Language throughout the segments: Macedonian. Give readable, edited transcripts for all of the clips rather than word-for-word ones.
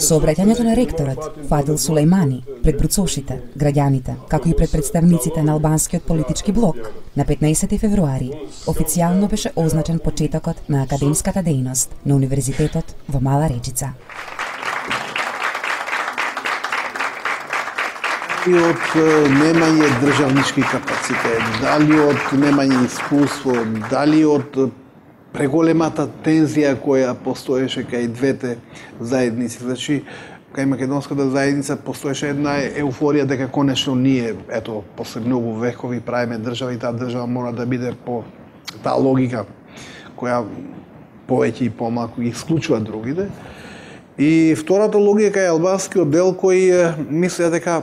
Со обраќањето на ректорот Фадил Сулејмани пред бруцошите, граѓаните, како и пред представниците на албанскиот политички блок, на 15 февруари официјално беше означен почетокот на академската дејност на Универзитетот во Мала Речица. Дали од немање државнички капацитет, дали од немање искуство, дали од преголемата тензија која постоеше кај двете заедници. Значи, кај македонската заедница постоеше една еуфорија дека конечно ние, ето, после многу векови правиме држава и таа држава мора да биде по таа логика која повеќе и помалку ги исклучува другите. И втората логика е албанскиот дел кој мислеа дека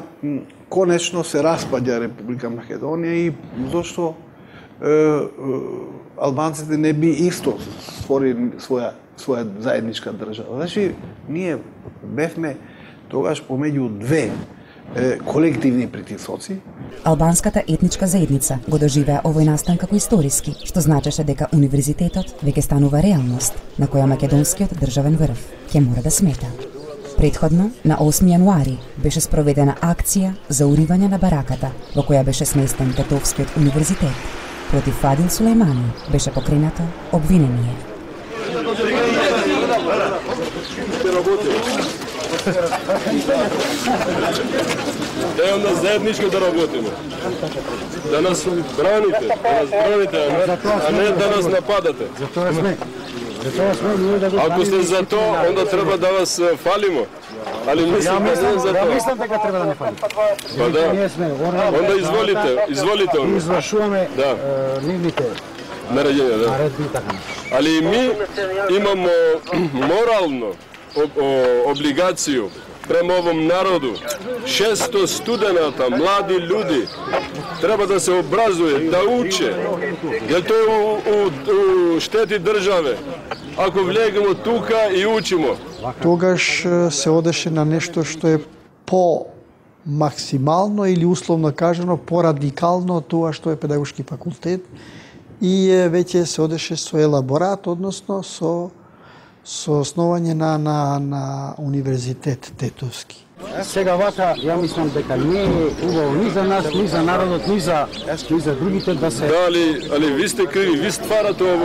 конечно се распаѓа Република Македонија и зошто албанците не би исто створили своја заедничка држава. Значи, ние бевме тогаш помеѓу две колективни притисоци. Албанската етничка заедница го доживеа овој настан како историски, што значеше дека универзитетот веќе станува реалност на која македонскиот државен врв ќе мора да смета. Предходно, на 8 јануари, беше спроведена акција за уривање на бараката во која беше сместен Тетовскиот универзитет. Против Фадил Сулејмани беше покренато обвинение. Да onda zajednički da работиме. Да нас браните, а не да нас нападате. Ако сте за тоа, onda треба да вас фалимо. Ali mislim da ne za to. Ja mislim дека треба да не фали. Pa da. Onda izvolite. Извршуваме нивните наредби, така. Ali mi imamo moralnu obligaciju prema ovom narodu. 600 studenata, mladi ljudi, treba da se obrazuje, da uče, jer to je u šteti države. Ако влегемо тука и учимо. Тогаш се одеше на нешто што е по-максимално или условно кажано по-радикално од тоа што е педагошки факултет и веќе се одеше со елаборат, односно со основање на универзитет Тетовски. Сега вака, ја мислам дека не е убаво ни за нас, ни за народот, ни за другите да се... Да, али ви сте криви, ви стварате ове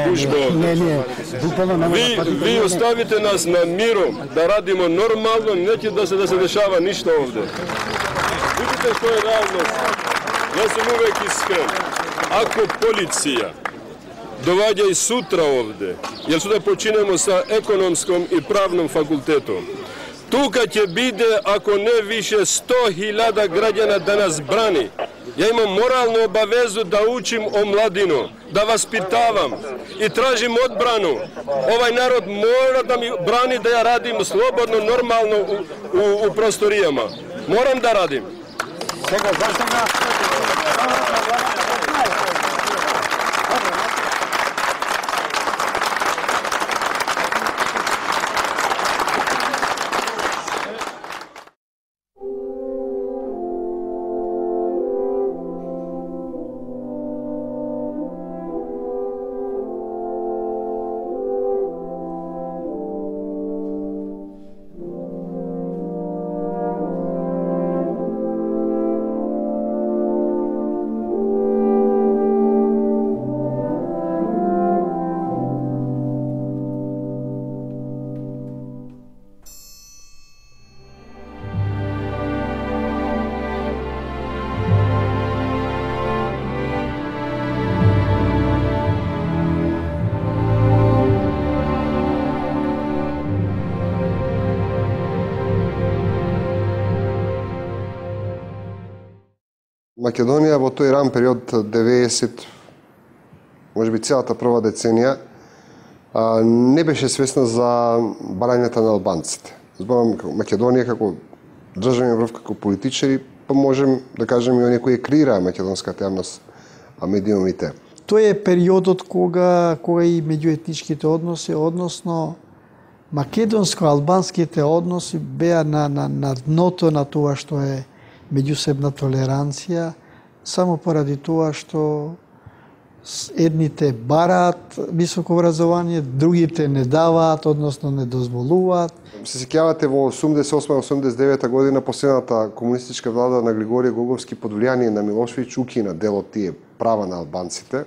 гужбе овде. Не, буквално не може да Ви оставите нас на миром, да радимо нормално, неќе да се дешава ништо овде. Видите што е реалност. Јас сум увек искрен. Ако полиција доваѓа и сутра овде, јер суда починемо sa економском и правном факултетом, тука ќе биде, ако не више 100.000 граѓана да нас брани. Ја имам моралну обавезу да учим омладину, да васпитавам и тражим одбрану. Овај народ мора да ми брани да ја радим слободно, нормално у просторијама. Морам да радим. Сега, за сега... Македонија во тој ран период 90, можеби целата прва деценија, не беше свесна за барањата на албанците. Зборам Македонија како државен врв, како политичари, па можем да кажем и оние кои креираа македонската јавност, а медиумите. Тој е периодот кога и меѓуетничките односи, односно македонско-албанските односи беа на дното на тоа што е меѓусебна толеранција, само поради тоа што едните бараат високо образование, другите не даваат, односно не дозволуваат. Се сеќавате во 88-89 година последната комунистичка влада на Григорije Гоговски под влијание на Милошевиќ укина дел од тие права на албанците.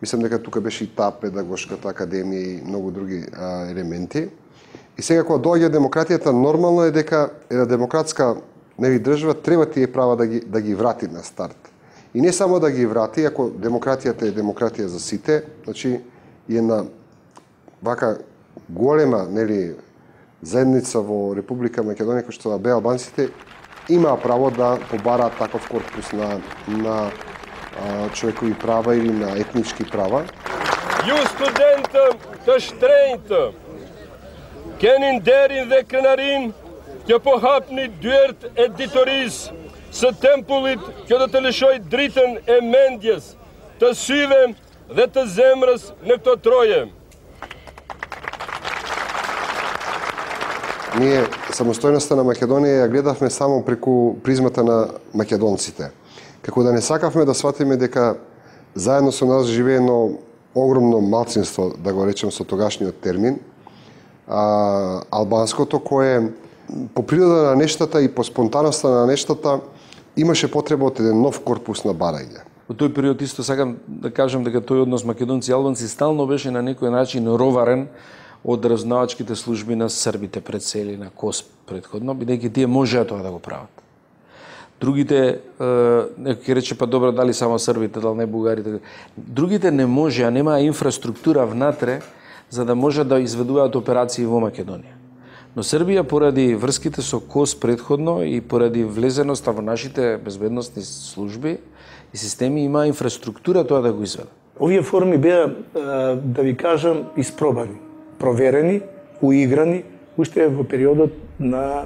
Мислам дека тука беше и таа педагошката академија и многу други елементи. И сега кога доаѓа демократијата, нормално е дека една демократска држава треба тие права да ги врати на старт. И не само да ги врати, ако демократијата е демократија за сите, значи и една вака голема, заедница во Република Македонија, кој што беа албанците, имаа право да побараат таков корпус на човекови права или на етнички права. Ju studentëm të shtrenjtë, keni nderin dhe krenarin që po hapni dyert e ditorisë së tempullit që do të lëshoj dritën e mendjes, të syve dhe të zemrës në këto troje. Ние самостојноста на Македонија ја гледавме само преку призмата на македонците. Како да не сакавме да сватиме дека заедно со нас живее едно огромно малцинство, да го речем со тогашниот термин, албанското, кое по природа на нештата и по спонтаноста на нештата имаше потреба од еден нов корпус на барање. Во тој период исто сакам да кажам дека тој однос македонци и албанци стално беше на некој начин роварен од разузнавачките служби на србите пред се или на КОС предходно, бидејќи тие можеа тоа да го прават. Другите, некој ќе рече, па добро, дали само србите, дали не бугарите. Другите не можеа, немаа инфраструктура внатре, за да може да изведуваат операции во Македонија. Но Србија, поради врските со КОС предходно и поради влезеноста во нашите безбедносни служби и системи, има инфраструктура тоа да го изведе. Овие форми беа, да ви кажам, испробани, проверени, уиграни, уште во периодот на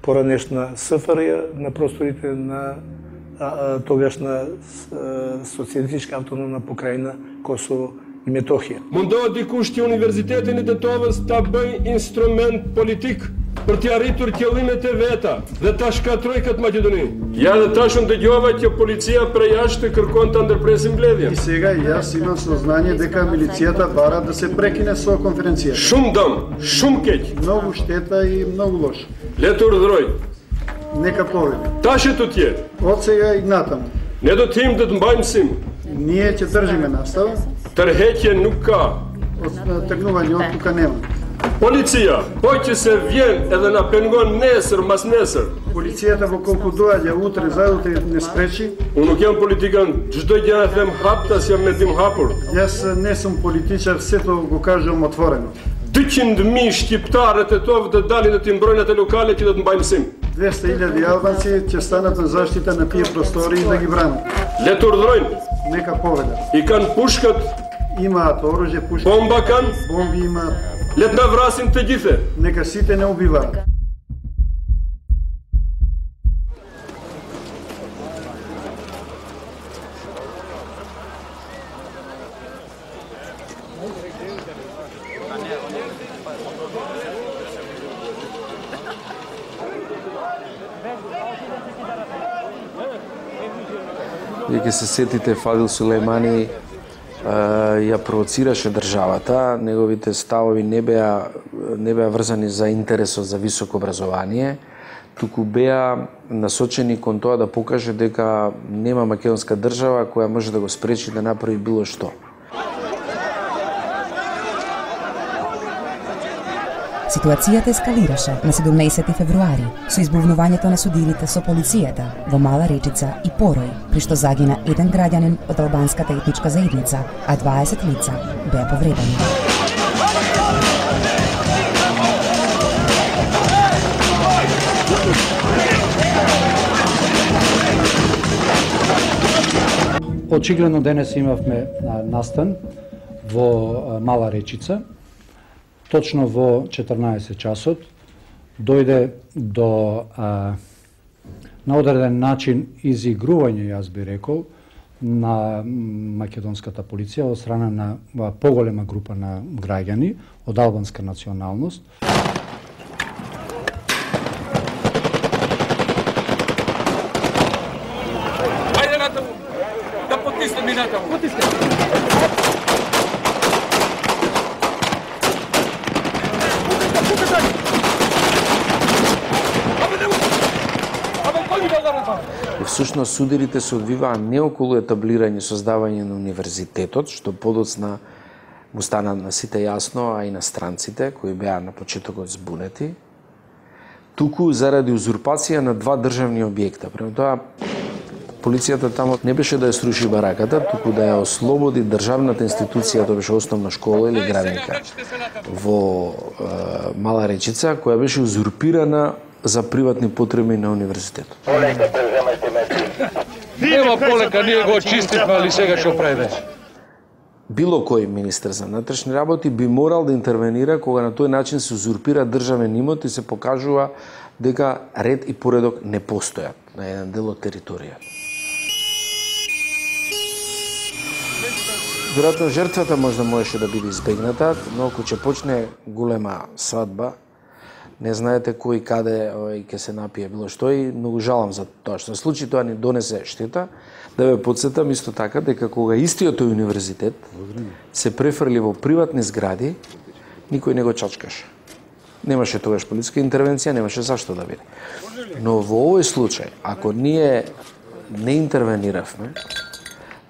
поранешна СФРЈ, на просторите на тогашна социјалистичка автономна покрајна Косово и Метохија. Mundohet dikush që Universitetin e Tetovës ta bëj instrument politik për t'i arritur qëllimet e veta dhe ta shkatroj këtë Maqedoni. Ja dhe tashun dëgjova që policia prej jashtë kërkon ta ndërpresin mbledhjen. И сега јас имам сознание дека милицијата бара да се прекине со конференцијата. Shumë dëm, shumë keq. Многу штета и многу лошо. Le të urdhëroj. Нека повеќе. Tash të tjerë. Од сега и натаму. Ne do të të mbajmë sim. Ние ќе држиме настава. Tërheqje nuk ka. Од тргнување од тука нема. Policia, po që se vjen edhe na pengon nesër, mas nesër. Полицијата во колку доаѓа утре, заутре не спречи. Unë nuk jam politikan, çdo gjë e them haptas, jam me dim hapur. Јас не сум политичар, сето го кажам отворено. 200.000 shqiptarë të tovë të dalin dhe të mbrojnë atë lokale që do të mbajmë sim. 200.000 албанци ќе станат на заштита на тие простори и да ги бранат. Le të urdhërojnë. Нека повелат. I kanë pushkat, Имаат оружје, пушки. bomba kanë, Бомби имаат. le të na vrasin të gjithë. Нека сите не убиваат. Вие ќе се сетите, Фадил Сулејмани ја провоцираше државата, неговите ставови не беа врзани за интересот за високо образование, туку беа насочени кон тоа да покаже дека нема македонска држава која може да го спречи да направи било што. Ситуацијата ескалираше на 17 февруари со избувнувањето на судилите со полицијата во Мала Речица и Порој, при што загина еден граѓанин од албанската етничка заедница, а 20 лица беа повредени. Очигледно денес имавме настан во Мала Речица. Точно во 14 часот дојде до на одреден начин изигрување, јас би рекол, на македонската полиција од страна на поголема група на граѓани од албанска националност. Ајде натаму, да потиснем и натаму. всушност сударите се одвиваа не околу етаблирање и создавање на универзитетот, што подоцна му стана на сите јасно, а и на странците кои беа на почетокот збунети, туку заради узурпација на два државни објекта. Према тоа, полицијата тамо не беше да ја сруши бараката, туку да ја ослободи државната институција, тоа беше основна школа или градинка во Мала Речица, која беше узурпирана за приватни потреби на универзитетот. Нема полека, ние го очистивме, али сега што прави? Било кој министер за внатрешни работи би морал да интервенира кога на тој начин се узурпира државен имот и се покажува дека ред и поредок не постојат на еден дел од територијата. Веројатно жртвата можеше да биде избегната, но ако ќе почне голема свадба, не знаете кој каде ќе се напие било што и многу жалам за тоа што се случи, тоа ни донесе штета. Да ве подсетам исто така дека кога истиот тој универзитет се префрли во приватни згради, никој не го чачкаше. Немаше тогаш полициска интервенција, немаше зашто да биде. Но во овој случај, ако ние не интервениравме,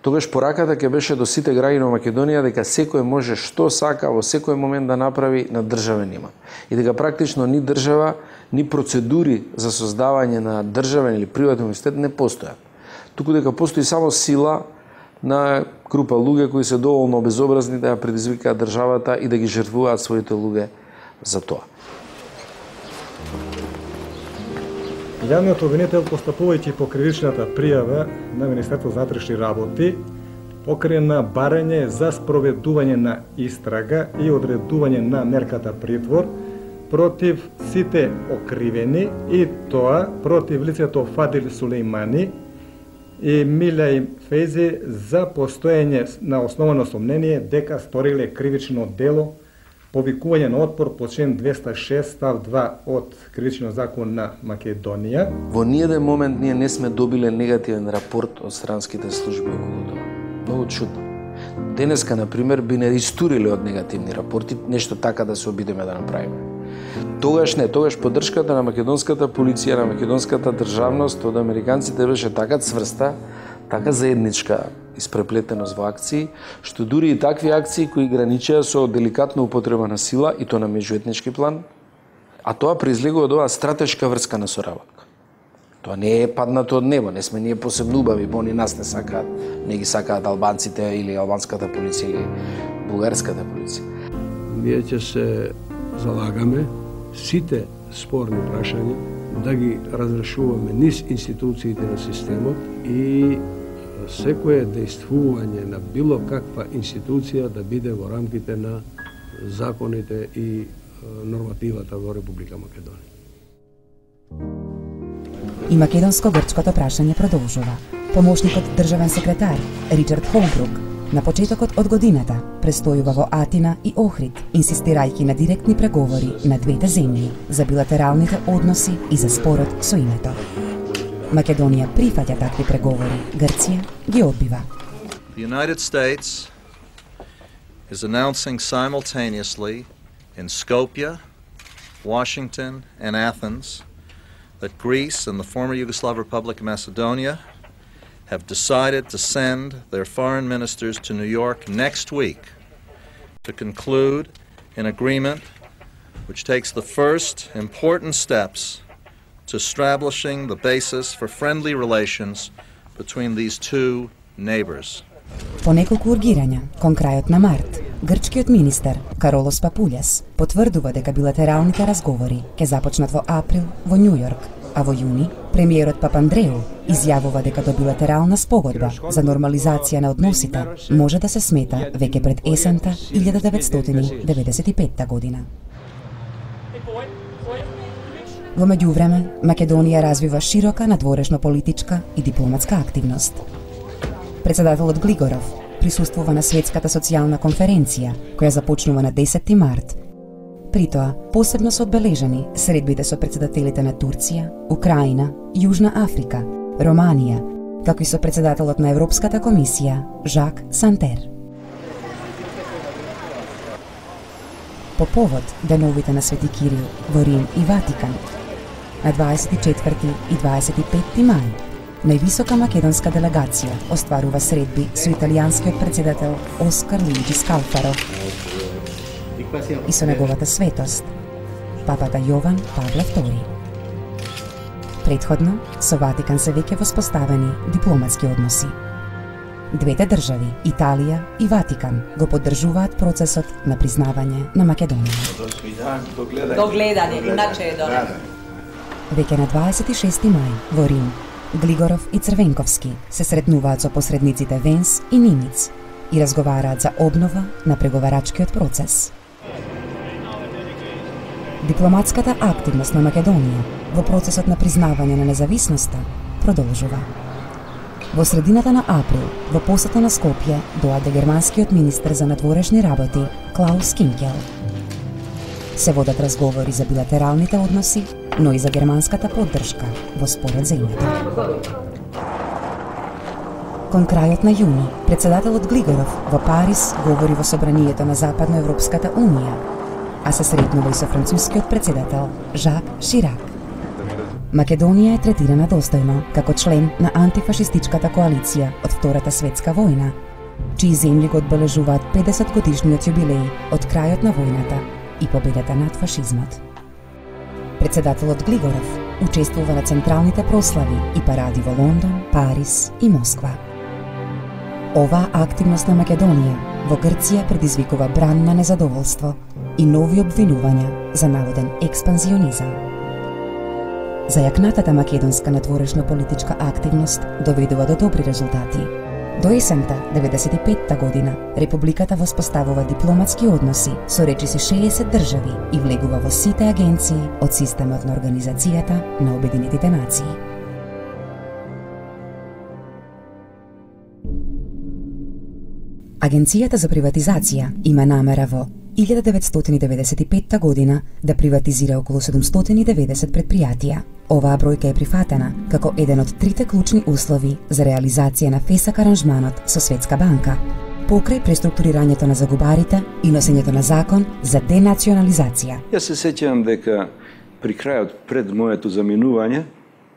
тогаш пораката ќе беше до сите граѓани на Македонија дека секој може што сака во секој момент да направи на државен имот. И дека практично ни држава, ни процедури за создавање на државен или приватен универзитет не постојат. Туку дека постои само сила на група луѓе кои се доволно безобразни да ја предизвикаат државата и да ги жртвуваат своите луѓе за тоа. Јавниот обвинител, постапувајќи по кривичната пријава на Министерството за внатрешни работи, покрена барање за спроведување на истрага и одредување на мерката притвор против сите окривени и тоа против лицето Фадил Сулеймани и Милај Фейзи за постоење на основано сомнение дека сториле кривично дело повикување на отпор по член 206 став 2 од Кривичниот закон на Македонија. Во ниеден момент ние не сме добиле негативен рапорт од странските служби околу тоа. Многу чудно. Денеска, например, би не истуриле од негативни рапорти, нешто така да се обидеме да направиме. Тогаш не, тогаш поддршката на македонската полиција, на македонската државност од американците беше така цврста, така заедничка испреплетеност во акции, што дури и такви акции кои граничеа со деликатна употреба на сила и то на меѓуетнички план, а тоа произлегува од оваа стратешка врска на соработка. Тоа не е паднато од небо, не сме ние посебно убави, бо ни нас не сакаат, не ги сакаат албанците или албанската полиција или бугарската полиција. Ние ќе се залагаме сите спорни прашања да ги разрешуваме низ институциите на системот и секое действување на било каква институција да биде во рамките на законите и нормативата во Република Македонија. И македонско-грчкото прашање продолжува. Помошникот државен секретар Ричард Холбрук на почетокот од годината престојува во Атина и Охрид, инсистирајќи на директни преговори на двете земји за билатералните односи и за спорот со името. Македонија прифаќа такви преговори, Грција ги одбива. The United States is announcing simultaneously in Skopje, Washington and Athens that Greece and the former Yugoslav Republic of Macedonia have decided to send their foreign ministers to New York next week to conclude an agreement which takes the first important steps to establishing the basis for friendly relations between these two neighbors. По неколку ургирања, кон крајот на март, грчкиот министер Каролос Папулјас потврдува дека билатералните разговори ќе започнат во април во Њу Јорк, а во јуни премиерот Папандреу изјавува дека до билатерална спогодба за нормализација на односите може да се смета веќе пред есента 1995 година. Во меѓувреме, Македонија развива широка надворешно политичка и дипломатска активност. Председателот Глигоров присуствува на Светската социјална конференција, која започнува на 10 март. При тоа, посебно се одбележани средбите со председателите на Турција, Украина, Јужна Африка, Романија, како и со председателот на Европската комисија, Жак Сантер. По повод деновите на Свети Кирил во Рим и Ватикан, на 24 и 25 мај, највисока македонска делегација остварува средби со италијанскиот председател Оскар Луиджи Скалфаро и со неговата светост, папата Јован Павле II. Претходно, со Ватикан се веќе воспоставени дипломатски односи. Двете држави, Италија и Ватикан, го поддржуваат процесот на признавање на Македонија. До гледање, иначе е добро. Веќе на 26 мај во Рим, Глигоров и Црвенковски се сретнуваат со посредниците Венс и Нимиц и разговараат за обнова на преговарачкиот процес. Дипломатската активност на Македонија во процесот на признавање на независноста продолжува. Во средината на април, во посета на Скопје, доаде германскиот министер за надворешни работи Клаус Кинкел. Се водат разговори за билатералните односи, но и за германската поддршка во според земјата. Кон крајот на јуни, председателот Глигоров во Париз говори во собранието на Западноевропската унија, а се сретнува и со францускиот председател Жак Ширак. Македонија е третирана достојно како член на антифашистичката коалиција од Втората светска војна, чии земји го одбележуваат 50 годишниот јубилеј од крајот на војната и победата над фашизмот. Председателот Глигоров учествува на централните прослави и паради во Лондон, Париз и Москва. Оваа активност на Македонија во Грција предизвикува бран на незадоволство и нови обвинувања за наводен експанзионизам. Зајакнатата македонска надворешна политичка активност доведува до добри резултати. До есента 95-та година Републиката воспоставува дипломатски односи со речиси 60 држави и влегува во сите агенции од системот на Организацијата на Обединетите нации. Агенцијата за приватизација има намера во 1995 година да приватизира околу 790 предпријатија. Оваа бројка е прифатена како еден од трите клучни услови за реализација на ФЕСАК аранжманот со Светска банка, покрај преструктурирањето на загубарите и носењето на закон за денационализација. Јас се сеќавам дека при крајот пред моето заминување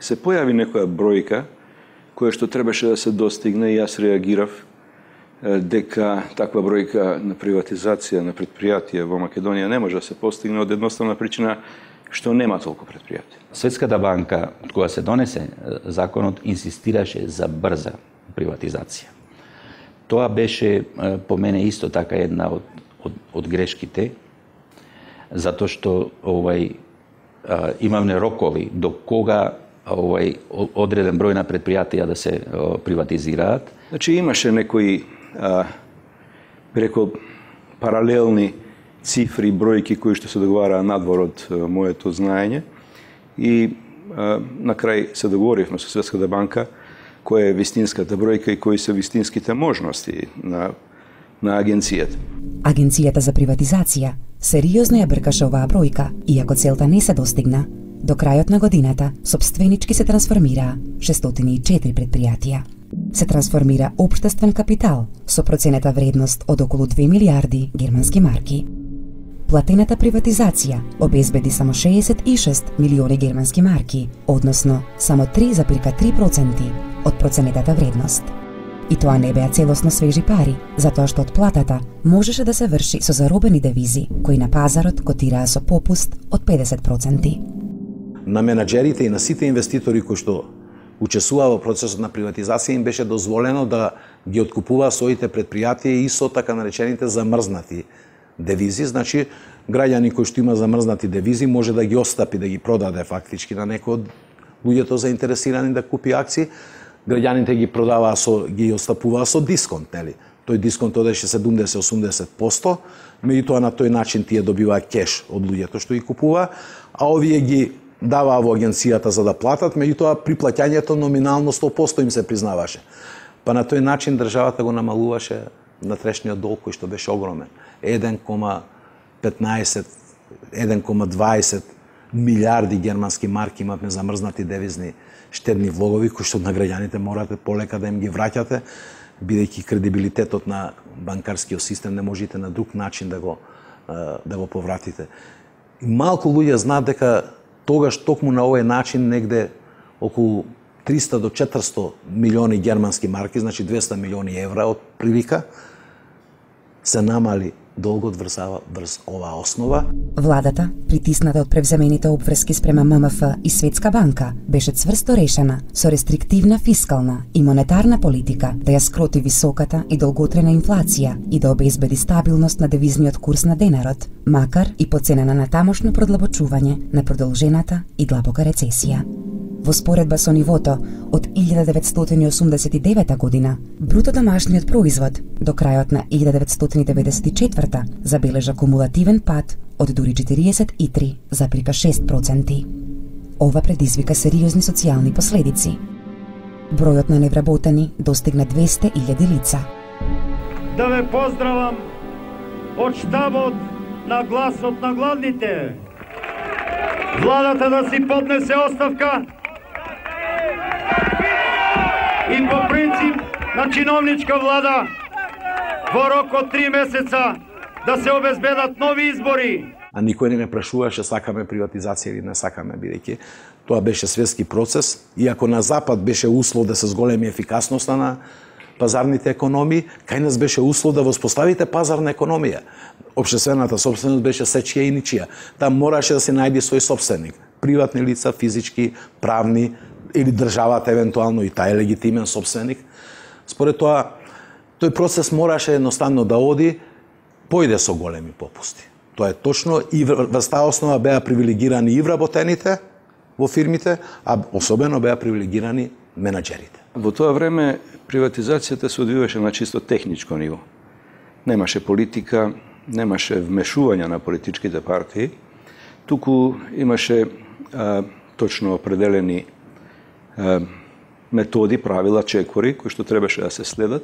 се појави некоја бројка која што требаше да се достигне и јас реагирав дека таква бројка на приватизација на предпријатија во Македонија не може да се постигне од едноставна причина што нема толку предпријатија. Светската банка, кога се донесе законот, инсистираше за брза приватизација. Тоа беше по мене исто така една од грешките, затоа што имаме рокови до кога одреден број на предпријатија да се приватизираат. Значи имаше некои преко паралелни цифри, бројки кои што се договараа надвор од моето знаење и на крај се договоривме со Светската банка која е вистинската бројка и кои се вистинските можности на агенцијата. Агенцијата за приватизација сериозно ја бркаше оваа бројка, иако целта не се достигна. До крајот на годината сопственички се трансформираа 604 предпријатија. Се трансформира општествен капитал со проценета вредност од околу 2 милиарди германски марки. Платената приватизација обезбеди само 66 милиони германски марки, односно само 3,3% од проценетата вредност. И тоа не беа целосно свежи пари, затоа што отплатата можеше да се врши со заробени девизи, кои на пазарот котираа со попуст од 50%. На менаџерите и на сите инвеститори кои што учесуваа во процесот на приватизација им беше дозволено да ги откупуваа своите предпријатија и со така наречените замрзнати девизи. Значи, граѓани кои што има замрзнати девизи може да ги остапи, да ги продаде фактички на некој од луѓето заинтересирани да купи акции. Граѓаните ги продаваа ги остапуваа со дисконт, нели? Тој дисконт одеше 70-80%, меѓутоа на тој начин тие добиваа кеш од луѓето што ги купуваа, а овие ги даваа во агенцијата за да платат, меѓутоа при плаќањето номинално 100% им се признаваше. Па на тој начин државата го намалуваше внатрешниот долг кој што беше огромен. 1,20 милиарди германски марки имавме замрзнати девизни штедни влогови кои што на граѓаните морате полека да им ги враќате, бидејќи кредибилитетот на банкарскиот систем не можете на друг начин да го повратите. И малку луѓе знаат дека тогаш токму на овој начин негде околу 300 до 400 милиони германски марки, значи 200 милиони евра од прилика, се намали долгот врз оваа основа. Владата, притисната од превземените обврски спрема ММФ и Светска банка, беше цврсто решена со рестриктивна фискална и монетарна политика да ја скроти високата и долготрена инфлација и да обезбеди стабилност на девизниот курс на денарот, макар и по цена на натамошно продлабочување на продолжената и длабока рецесија. Во споредба со нивото од 1989 година, бруто домашниот производ до крајот на 1994 забележа кумулативен пад од дури 43,6%. Ова предизвика сериозни социјални последици. Бројот на невработени достигна 200.000 лица. Да ве поздравам од штабот на гласот на гладните. Владата да си поднесе оставка и по принцип на чиновничка влада во рок од 3 месеца да се обезбедат нови избори. А никој не ме прашуваше сакаме приватизација или не сакаме, бидејќи тоа беше светски процес. Иако на Запад беше услов да се зголеми ефикасноста на пазарните економии, кај нас беше услов да воспоставите пазарна економија. Општествената собственост беше сечија и ничија. Там мораше да се најде свој собственик. Приватни лица, физички, правни, или државата евентуално и тај легитимен собственик. Според тоа, тој процес мораше едноставно да оди, појде со големи попусти. Тоа е точно и врз таа основа беа привилегирани и вработените во фирмите, а особено беа привилегирани менаџерите. Во тоа време приватизацијата се одвиваше на чисто техничко ниво. Немаше политика, немаше вмешување на политичките партии, туку имаше точно определени методи, правила, чекори, кои што требаше да се следат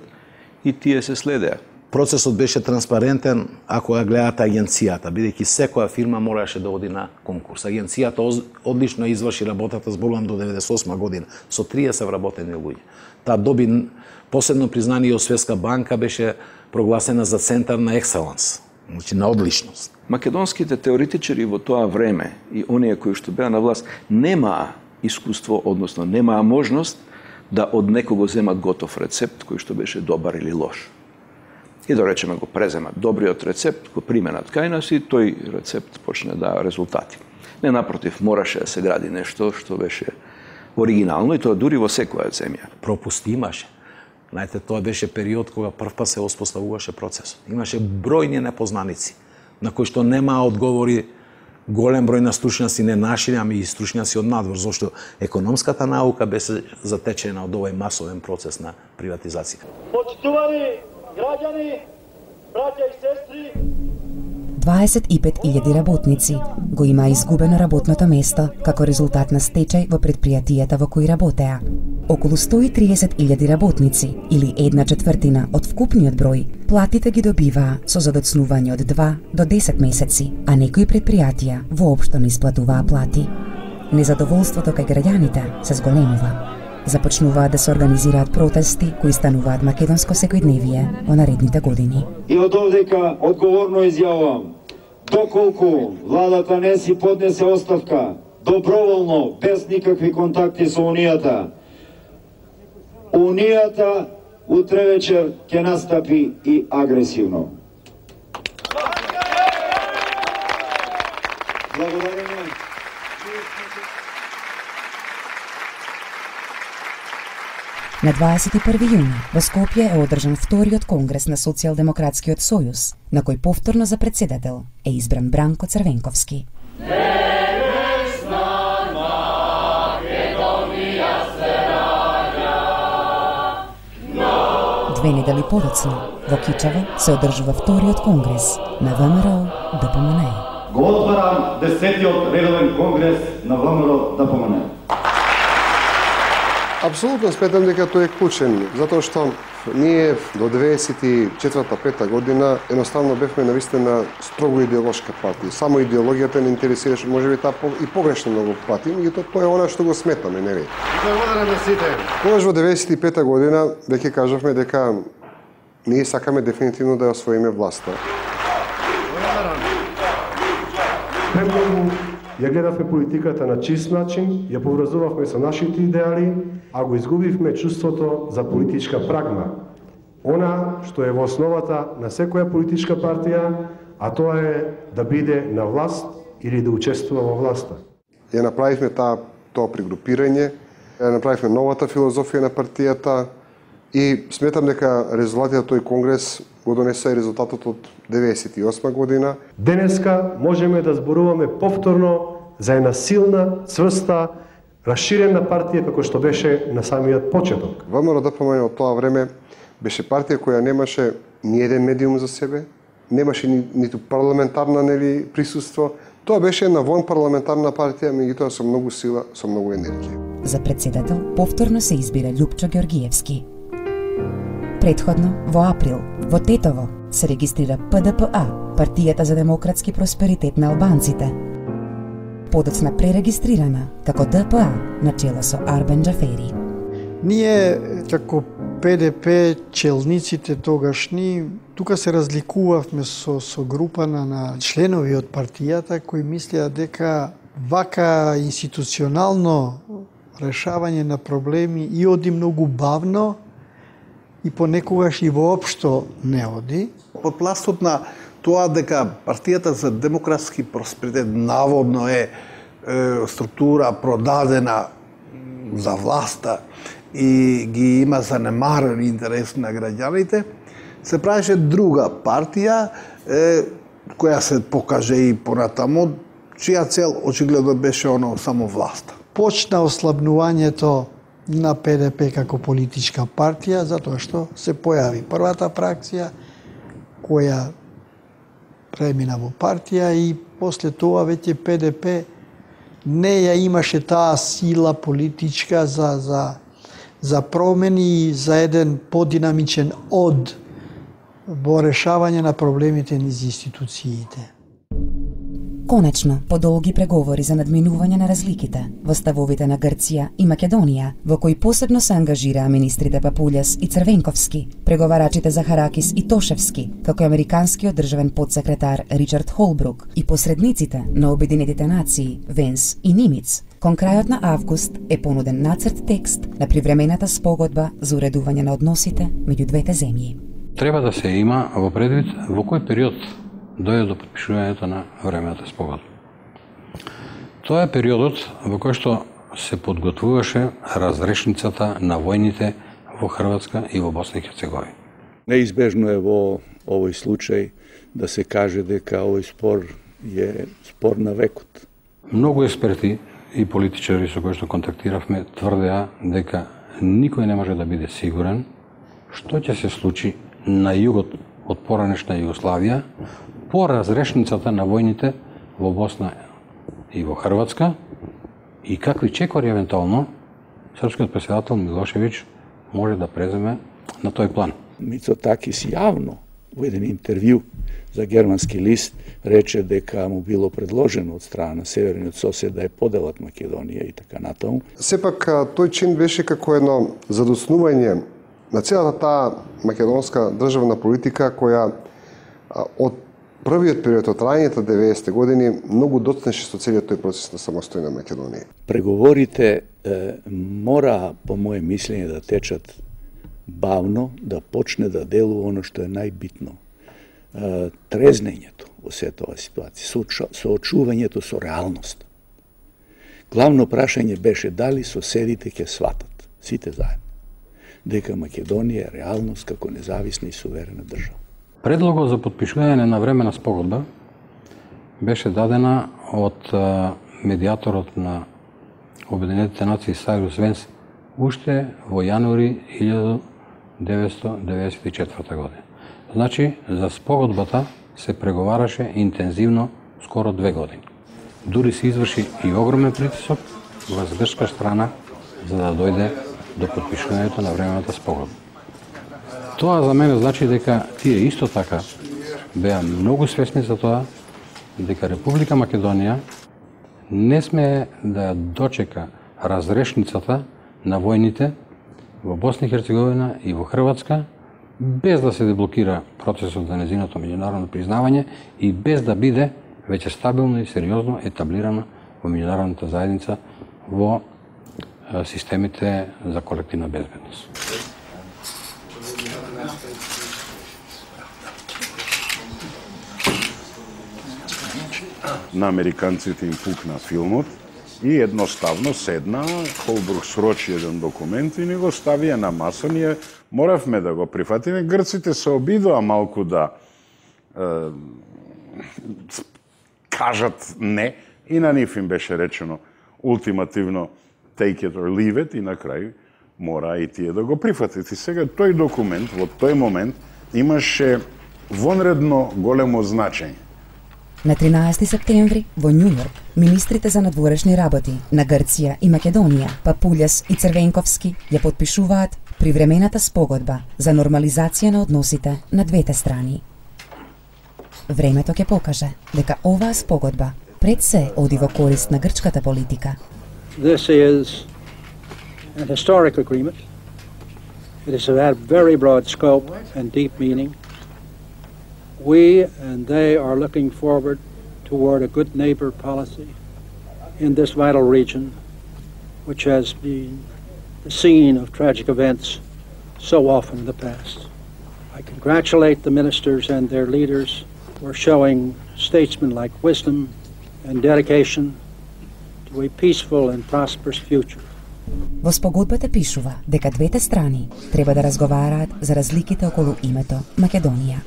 и тие се следеа. Процесот беше транспарентен ако ја гледате агенцијата, бидејќи секоја фирма мораше да оди на конкурс. Агенцијата одлично изврши работата, зборувам до 98 година, со 30 вработени луѓе. Таа доби посебно признание од Светска банка, беше прогласена за центар на екселенс, значи на одличност. Македонските теоретичари во тоа време и оние кои што беа на власт немаа искуство, односно немаа можност да од некого земат готов рецепт кој што беше добар или лош. И да речеме го преземат добриот рецепт, го применат кај нас и тој рецепт почне да резултати. Не, напротив, мораше да се гради нешто што беше оригинално и тоа дури во секоја земја. Пропусти имаше. Знаете, тоа беше период кога првпат се воспоставуваше процесот. Имаше бројни непознаници на кои што немаа одговори голем број на стручњаци, не наши, ами и стручњаци од надвор, зашто економската наука беше затечена од овој масовен процес на приватизација. Почитувани граѓани, браќа и сестри, 25.000 работници го има изгубено работното место како резултат на стечај во предпријатијата во кои работеа. Околу 130.000 работници, или 1/4 од вкупниот број, платите ги добиваа со задоцнување од 2 до 10 месеци, а некои предпријатија воопшто не исплатуваа плати. Незадоволството кај граѓаните се зголемува. Започнуваат да се организираат протести кои стануваат македонско секојдневие во наредните години. И од овдека одговорно изјавувам, доколку владата не си поднесе оставка, доброволно, без никакви контакти со Унијата утре вечер ќе настапи и агресивно. Благодариме. На 21 јуни во Скопје е одржан вториот конгрес на Социјалдемократскиот сојуз, на кој повторно за председател е избран Бранко Црвенковски. Две недели подоцна, во Кичево се одржува вториот конгрес на ВМРО-ДПМН. Го отварам 10-тиот редовен конгрес на ВМРО-ДПМН. Апсолутно сметам дека тој е клучен, затоа што ние до 94-5 година едноставно бевме навистина строго идеолошка партија. Само идеологијата не интересираше, можеби таа и погрешно многу пати, меѓутоа тоа е она што го сметаме, нели? Благодарам на сите. Тогаш во 95 година веќе кажавме дека ние сакаме дефинитивно да ја освоиме власта. Преголку Ја гледавме политиката на чист начин, ја поврзувавме со нашите идеали, а го изгубивме чувството за политичка прагма. Она што е во основата на секоја политичка партија, а тоа е да биде на власт или да учествува во власта. Ја направивме тоа пригрупирање, ја направивме новата филозофија на партијата и сметам дека резултатите тој конгрес го донесе резултатот од 98 година. Денеска можеме да зборуваме повторно за една силна, цврста, расширена партија како што беше на самиот почеток. ВМРО-ДПМН од тоа време беше партија која немаше ни еден медиум за себе, немаше ниту парламентарна присуство. Тоа беше една вонпарламентарна партија, меѓутоа со многу сила, со многу енергија. За председател повторно се избира Љупчо Ѓоргиевски. Предходно, во април, во Тетово, се регистрира ПДПА, Партијата за демократски просперитет на албанците. Подоцна пререгистрирана како ДПА на чело со Арбен Џафери. Ние, како ПДП, челниците тогашни, тука се разликувавме со група на членови од партијата кои мислеа дека вака институционално решавање на проблеми и оди многу бавно и понекогаш и воопшто не оди. Под пластот на тоа дека партијата за демократски просперитет наводно е структура продадена за власта и ги има занемарен интерес на граѓаните, се правеше друга партија која се покаже и понатаму, чија цел очигледно беше оно само власта. Почна ослабнувањето на ПДП како политичка партија, затоа што се појави првата фракција која премина во партија и после тоа веќе ПДП не ја имаше таа сила политичка за промени, за еден подинамичен од во решавање на проблемите низ институциите. Конечно, по долги преговори за надминување на разликите во ставовите на Грција и Македонија, во кои посебно се ангажираа министрите Папулјас и Црвенковски, преговарачите Захаракис и Тошевски, како и американскиот државен подсекретар Ричард Холбрук и посредниците на Обединетите нации Венс и Нимиц. Кон крајот на август е понуден нацрт текст на привремената спогодба за уредување на односите меѓу двете земји. Треба да се има во предвид во кој период дојде до подпишувањето на времената спогодба. Тоа е периодот во кој што се подготвуваше разрешницата на војните во Хрватска и во Босна и Херцеговина. Неизбежно е во овој случај да се каже дека овој спор е спор на векот. Многу експерти и политичари со кои што контактиравме тврдеа дека никој не може да биде сигурен што ќе се случи на југот од поранешна Југославија по разрешницата на војните во Босна и во Хрватска и какви чекори евентуално српскиот претседател Милошевиќ може да преземе на тој план. Мицотакис јавно во еден интервју за германски лист рече дека му било предложено од страна на северниот сосед да ја поделат Македонија и така натаму. Сепак тој чин беше како едно задоснување на целата таа македонска државна политика која од првиот период од раните 90-те години многу доцнеше со целиот тој процес на самостојна Македонија. Преговорите мора, по моје мислење, да течат бавно, да почне да делува оно што е најбитно. Трезнењето во сета оваа ситуација, соочувањето со реалност. Главно прашање беше дали соседите ќе сватат, сите заедно, дека Македонија е реалност како независна и суверена држава. Предлогот за подпишување на времена спогодба беше дадена од медиаторот на Обединетите нации Сайрус Венс уште во јануари 1994 година. Значи, за спогодбата се преговараше интензивно скоро 2 години. Дури се изврши и огромен притисок врз грчка страна за да дојде до подпишувањето на времената спогодба. Тоа за мене значи дека тие исто така беа многу свесни за тоа дека Република Македонија не смее да ја дочека разрешницата на војните во Босна и Херцеговина и во Хрватска без да се деблокира процесот за незиното меѓународно признавање и без да биде веќе стабилно и сериозно етаблирана во меѓународната заедница во системите за колективна безбедност. На американците им пукна филмот и едноставно седна, Холбрук срочи еден документ и ни го ставија на маса. Ние моравме да го прифатиме. Грците се обидоа малку да кажат не и на нив им беше речено ултимативно take it or leave it и на крај мора и тие да го прифатите. И сега тој документ во тој момент имаше вонредно големо значење. На 13 септември во Њујорк, министрите за надворешни работи на Грција и Македонија, Папулјас и Црвенковски, ја потпишуваат привремената спогодба за нормализација на односите на двете страни. Времето ќе покаже дека оваа спогодба пред се оди во корист на грчката политика. This is an historic agreement. It is of very broad scope and deep meaning. We and they are looking forward toward a good neighbor policy in this vital region, which has been the scene of tragic events so often in the past. I congratulate the ministers and their leaders for showing statesmanlike wisdom and dedication to a peaceful and prosperous future. Во спогодбата пишува дека двете страни треба да разговараат за разликите околу името Македонија.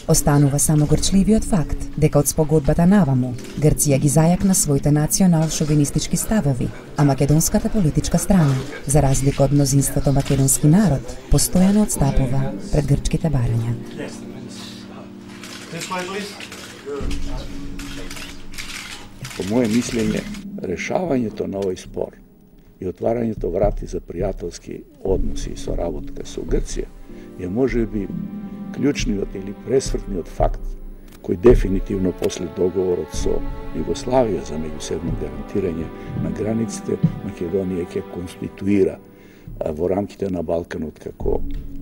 Останува само горчливиот факт дека од спогодбата наваму Грција ги зајакна своите национал-шовинистички ставови, а македонската политичка страна, за разлика од мнозинството македонски народ, постојано отстапува пред грчките барања. По моје мислење, решавањето на овој спор и отварањето врати за пријателски односи и соработка со Грција е можеби клучниот или пресвртниот факт кој дефинитивно после договорот со Југославија за меѓусебно гарантирање на границите Македонија ќе конституира во рамките на Балканот како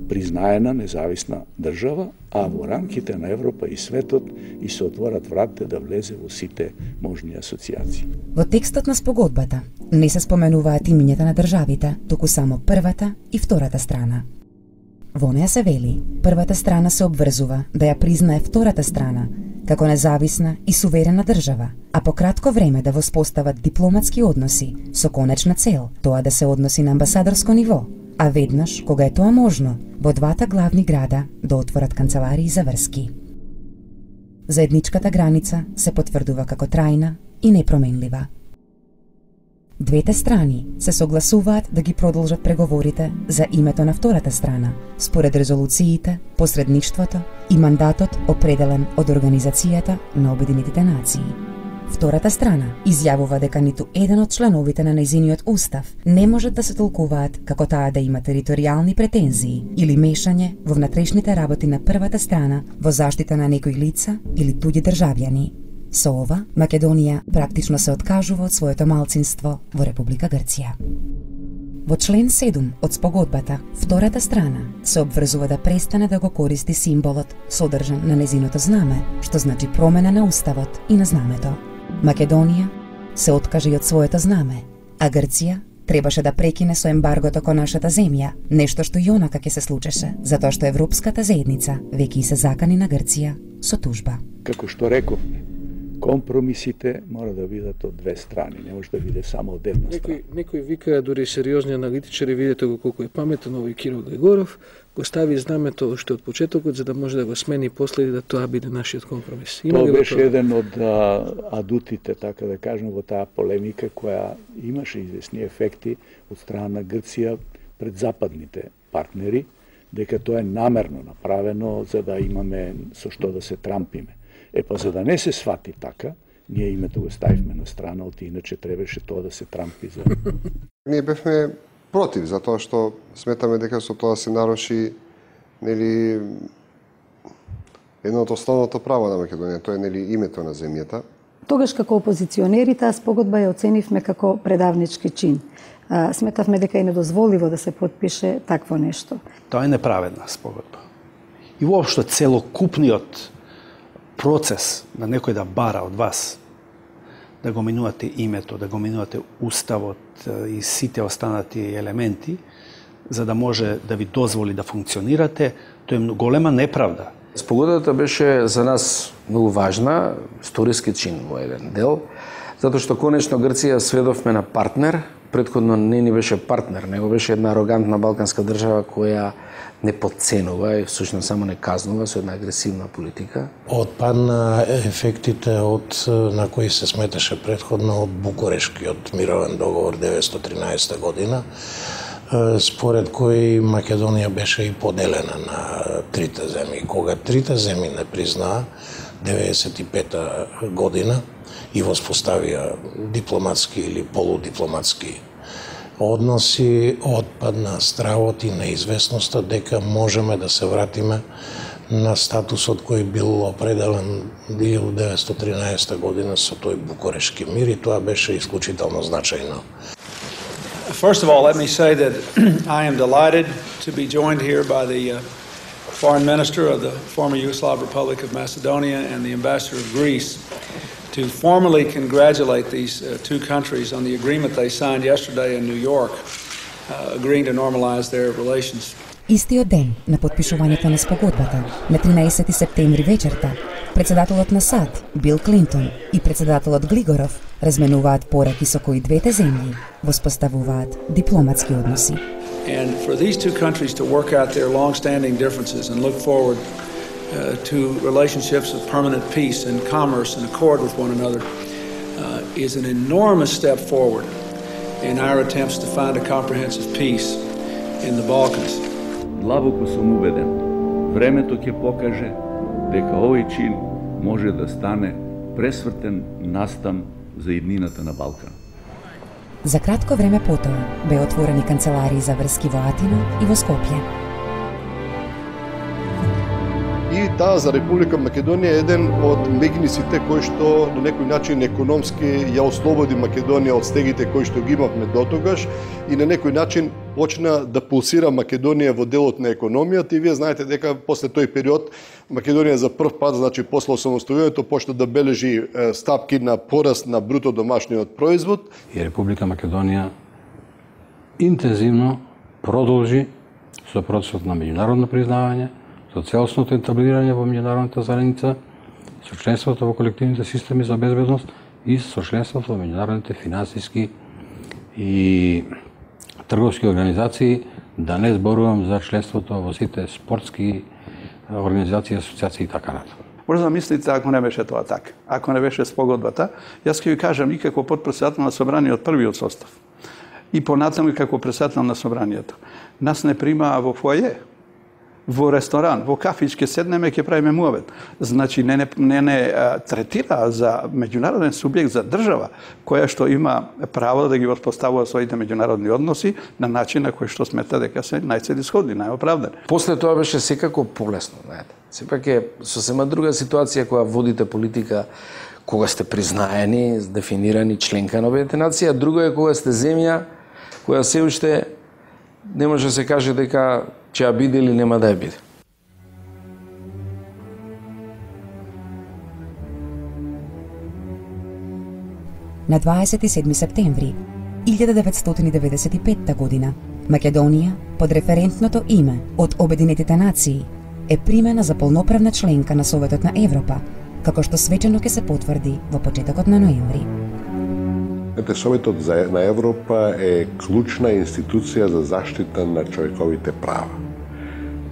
признаена независна држава, а во рамките на Европа и светот и се отворат вратите да влезе во сите можни асоциации. Во текстот на спогодбата не се споменуваат имињата на државите, туку само првата и втората страна. Во неја се вели, првата страна се обврзува да ја признае втората страна како независна и суверена држава, а по кратко време да воспостават дипломатски односи со конечна цел тоа да се односи на амбасадорско ниво, а веднаш, кога е тоа можно, во двата главни града да отворат канцеларии за врски. Заедничката граница се потврдува како трајна и непроменлива. Двете страни се согласуваат да ги продолжат преговорите за името на втората страна, според резолуциите, посредништвото и мандатот определен од Организацијата на Обединетите нации. Втората страна изјавува дека ниту еден од членовите на нејзиниот устав не можат да се толкуваат како таа да има територијални претензии или мешање во внатрешните работи на првата страна во заштита на некои лица или туѓи државјани. Со ова, Македонија практично се откажува од своето малцинство во Република Грција. Во член 7 од спогодбата, втората страна се обврзува да престане да го користи символот содржан на незиното знаме, што значи промена на уставот и на знамето. Македонија се откаже и од своето знаме, а Грција требаше да прекине со ембаргото кон нашата земја, нешто што и онака ќе се случеше, затоа што Европската заедница веќе и се закани на Грција со тужба. Како што рековме, компромисите мора да бидат од две страни, не може да биде само од една страна. Некој вика, дури сериозни аналитичари, видете го колку е паметен овој Кирил Григоров, го стави знамето уште од почетокот за да може да го смени после и да тоа биде нашиот компромис. Тоа беше еден од адутите, така да кажем, во таа полемика која имаше известни ефекти од страна на Грција пред западните партнери, дека тоа е намерно направено за да имаме со што да се трампиме. Па за да не се свати така, ние името го ставивме на страна, од иначе требаше тоа да се трампи за... Ние бевме против, затоа што сметаме дека со тоа се наруши нели едно од основното право на Македонија, тоа е нели името на земјата. Тогаш како опозиционери таа спогодба ја оценивме како предавнички чин. Сметавме дека е недозволиво да се потпише такво нешто. Тоа е неправедна спогодба. И воопшто целокупниот процес на некој да бара од вас да го минувате името, да го минувате уставот и сите останати елементи, за да може да ви дозволи да функционирате, тоа е голема неправда. Спогодбата беше за нас многу важна, историски чин во еден дел, затоа што конечно Грција сведовме на партнер, претходно не ни беше партнер, него беше една арогантна балканска држава која не подценува и всушност само не казнува со една агресивна политика. Отпадна ефектите на кои се сметаше претходно од Букурешкиот мировен договор 1913 година, според кој Македонија беше и поделена на трите земји. Кога трите земји не признаа 1995 година и воспоставија дипломатски или полудипломатски односи, отпадна стравот и неизвестноста дека можеме да се вратиме на статусот кој бил определен 1913 година со тој Букурешки мир и тоа беше исклучително значајно. First of all, let me say that I am delighted to be joined here by the Foreign Minister of the former Yugoslav Republic of Macedonia and the Ambassador of Greece to formally congratulate these two countries on the agreement they signed yesterday in New York, agreeing to normalize their relations. Истиот ден на потпишувањето на спогодбата, на 13 септември вечерта, председателот на САД, Бил Клинтон, и председателот Глигоров разменуваат пораки со кои двете земји воспоставуваат дипломатски односи. And for these two countries to work out their long-standing differences and look forward to relationships of permanent peace and commerce and accord with one another is an enormous step forward in our attempts to find a comprehensive peace in the Balkans. Длабоко сум убеден, времето ќе покаже дека овој чин може да стане пресвртен настан за иднината на Балкан. За кратко време потоа беа отворени канцеларии за врски во Атина и во Скопје. И таа за Република Македонија е еден од мегнисите кои што на некој начин економски ја ослободи Македонија од стегите кои што ги имавме дотогаш и на некој начин почна да пулсира Македонија во делот на економијата и вие знаете дека после тој период Македонија за прв пат, значи после осамостојувањето, почна да бележи стапки на пораст на бруто домашниот производ. И Република Македонија интензивно продолжи со процесот на меѓународно признавање, со целосното етаблирање во меѓународната заедница, со членството во колективните системи за безбедност и со членството во меѓународните финансиски и трговски организации, да не зборувам за членството во сите спортски организации, асоциации и така натаму. Може да мислите ако не беше тоа така, ако не беше спогодбата, јас ќе ви кажам и како потпредседател на собраниот првиот состав и понатаму и како председател на собранието. Нас не примаа во фоје, во ресторан, во кафич ќе седнеме, ќе правиме муавет. Значи не третира за меѓународен субјект, за држава, која што има право да ги воспоставува своите меѓународни односи на начин на кој што смета дека се најцелисходни, најоправдани. После тоа беше секако полесно, знаете. Сепак е сосема друга ситуација кога водите политика кога сте признаени, дефинирани членка на Обединетите нации, а друго е кога сте земја која се уште не може да се каже дека ќе ја биде или нема да ја биде. На 27 септември 1995 година Македонија под референтното име од Обединетите нации е примена за полноправна членка на Советот на Европа, како што свечено ќе се потврди во почетокот на ноември. Советот на Европа е клучна институција за заштита на човековите права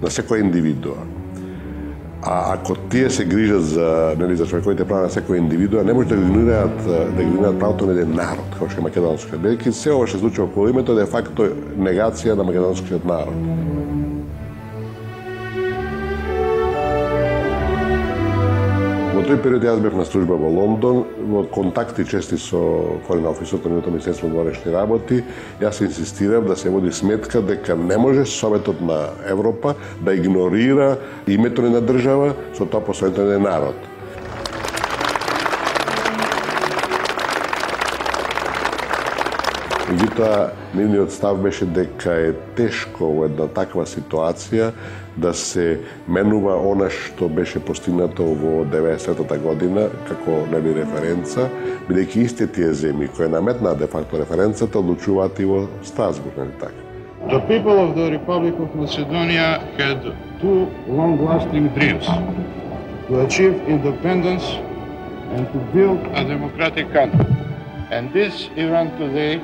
на секоја индивидуа. А ако тие се грижат за човековите права на секоја индивидуа, не може да игнорираат правото на еден народ, како што е македонскиот. Бидејќи се ова што се случува околу името де факто негација на македонскиот народ. Во тој период јас бев на служба во Лондон, во контакти чести со Форен офисот на Министерството на външни работи, јас инсистирав да се води сметка дека не може Советот на Европа да игнорира името на држава со тоа посветен на народ. Меѓутоа, нивниот став беше дека е тешко во една таква ситуација да се менува она што беше постигнато во 90-та година како референца, бидејќи истите тие земји кои наметнаа де факто референцата одлучуваат и во Страсбург, нели така? The people of the Republic of Macedonia had two long-lasting dreams: to achieve independence and to build a democratic country. And this event today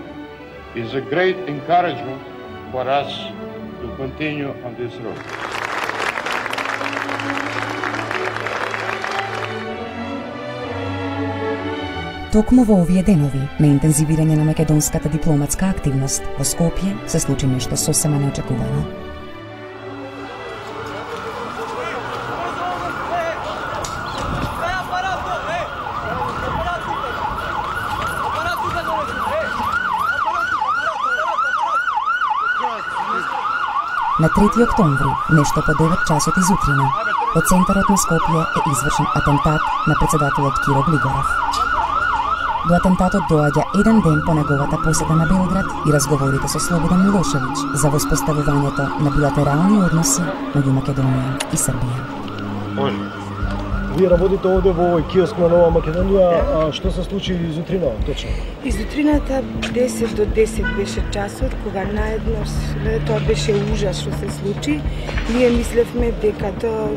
is a great encouragement for us to continue on this road. Токму во овие денови на интензивирање на македонската дипломатска активност во Скопје се случи нешто сосема неочекувано. На 3 октомври, нешто по 9 часот изутрина, во центарот на Скопје е извршен атентат на председателот Киро Глигоров. До атентатот доаѓа еден ден по неговата посета на Белград и разговорите со Слободан Милошевиќ за воспоставувањето на билатерални односи меѓу Македонија и Србија. Вие работите овде во овој киоск на Нова Македонија, а што се случи изутрина точно? Изутрината 10 до 10 беше часот, кога наеднаш тоа беше ужас што се случи. Ние мислевме дека тоа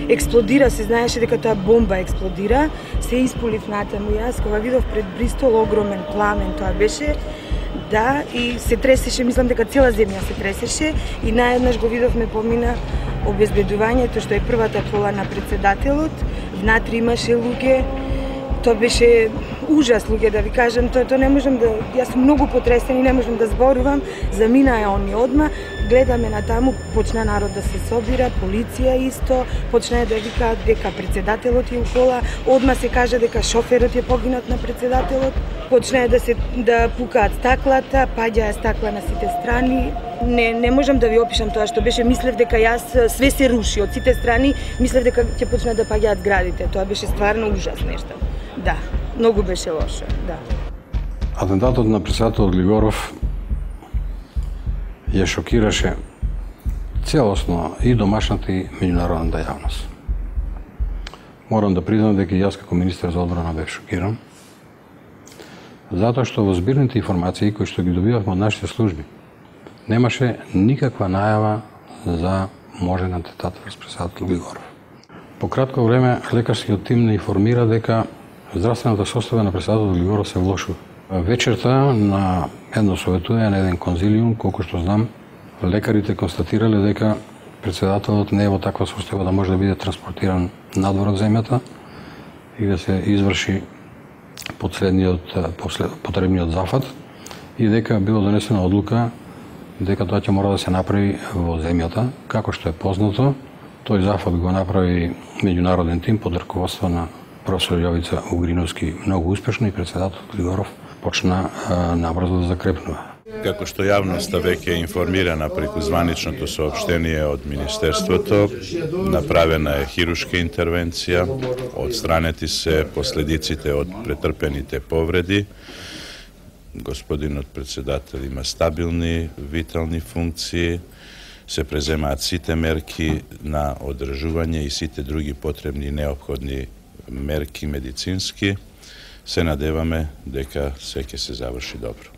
експлодира, се знаеше дека тоа бомба експлодира. Се испулив натаму јас, кога видов пред Бристол огромен пламен, тоа беше, да, и се тресеше, мислам дека цела земја се тресеше и наеднаш го видовме помина обезбедувањето, што е првата кола на председателот. Внатре имаше луѓе. Тоа беше ужас, луѓе, да ви кажам, тоа не можам да, јас сум многу потресен и не можам да зборувам. Заминаа они одма, гледаме на таму, почна народ да се собира, полиција исто, почна да викаат дека председателот е у кола, одма се кажа дека шоферот е погинат на председателот, почна да пукаат стаклата, паѓаа стакла на сите страни. Не можам да ви опишам тоа што беше, мислев дека јас све се руши од сите страни, мислев дека ќе почнат да паѓаат градите. Тоа беше стварно ужас нешто. Да, многу беше лошо, да. Атентатот на председателот Глигоров ја шокираше целосно и домашната и меѓународната јавност. Морам да признам дека јас како министер за одбрана бев шокиран, затоа што во збирните информации кои што ги добивавме од нашите служби, немаше никаква најава за можен атентат врз председател Глигоров. По кратко време лекарскиот тим не информира дека здравствената состојба на председателот Глигоров се влошува. Вечерта на едно советување на еден конзилиум, колку што знам, лекарите констатирале дека председателот не е во таква состојба да може да биде транспортиран надвор од земјата и да се изврши потребниот зафат и дека било донесена одлука дека тоа ќе мора да се направи во земјата. Како што е познато, тој зафат го направи меѓународен тим под раководство на професор Јовица Угриновски многу успешно и председателот Глигоров почна набрзо да закрепнува. Како што јавноста веќе е информирана преку званичното соопштение од Министерството, направена е хирушка интервенција, отстранети се последиците од претрпените повреди. Господинот председател има стабилни витални функции, се преземаат сите мерки на одржување и сите други потребни и неопходни мерки медицински. Се надеваме дека се ќе се заврши добро.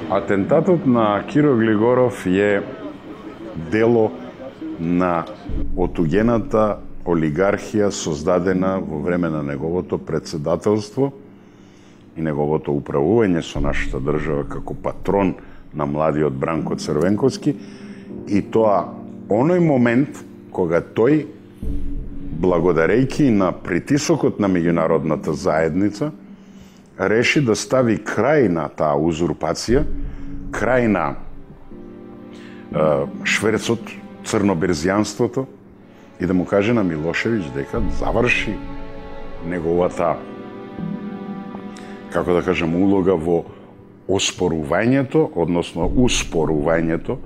Атентатот на Киро Глигоров е дело на отугената олигархија создадена во време на неговото председателство и неговото управување со нашата држава како патрон на младиот Бранко Црвенковски, и тоа оној момент кога тој, благодарејќи на притисокот на меѓународната заедница, реши да стави крај на таа узурпација, крај на шверцот, црноберзијанството, и да му каже на Милошевиќ дека заврши неговата, како да кажем, улога во оспорувањето, односно успорувањето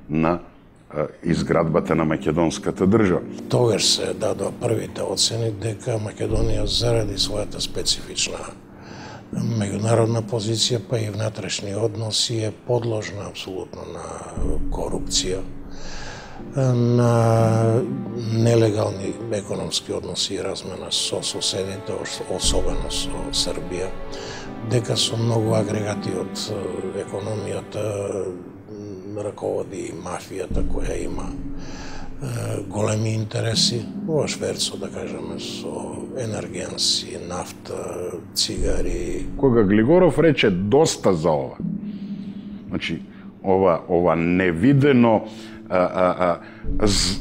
на изградбата на македонската држава. Тогаш се дадоа првите оцени дека Македонија заради својата специфична меѓународна позиција, па и внатрешни односи е подложна апсолутно на корупција, на нелегални економски односи и размена со соседите, особено со Србија, дека со многу агрегати од економијата раководи мафијата која има големи интереси во шверцо, да кажеме, со енергенси, нафта, цигари. Кога Глигоров рече доста за ова, значи, ова невидено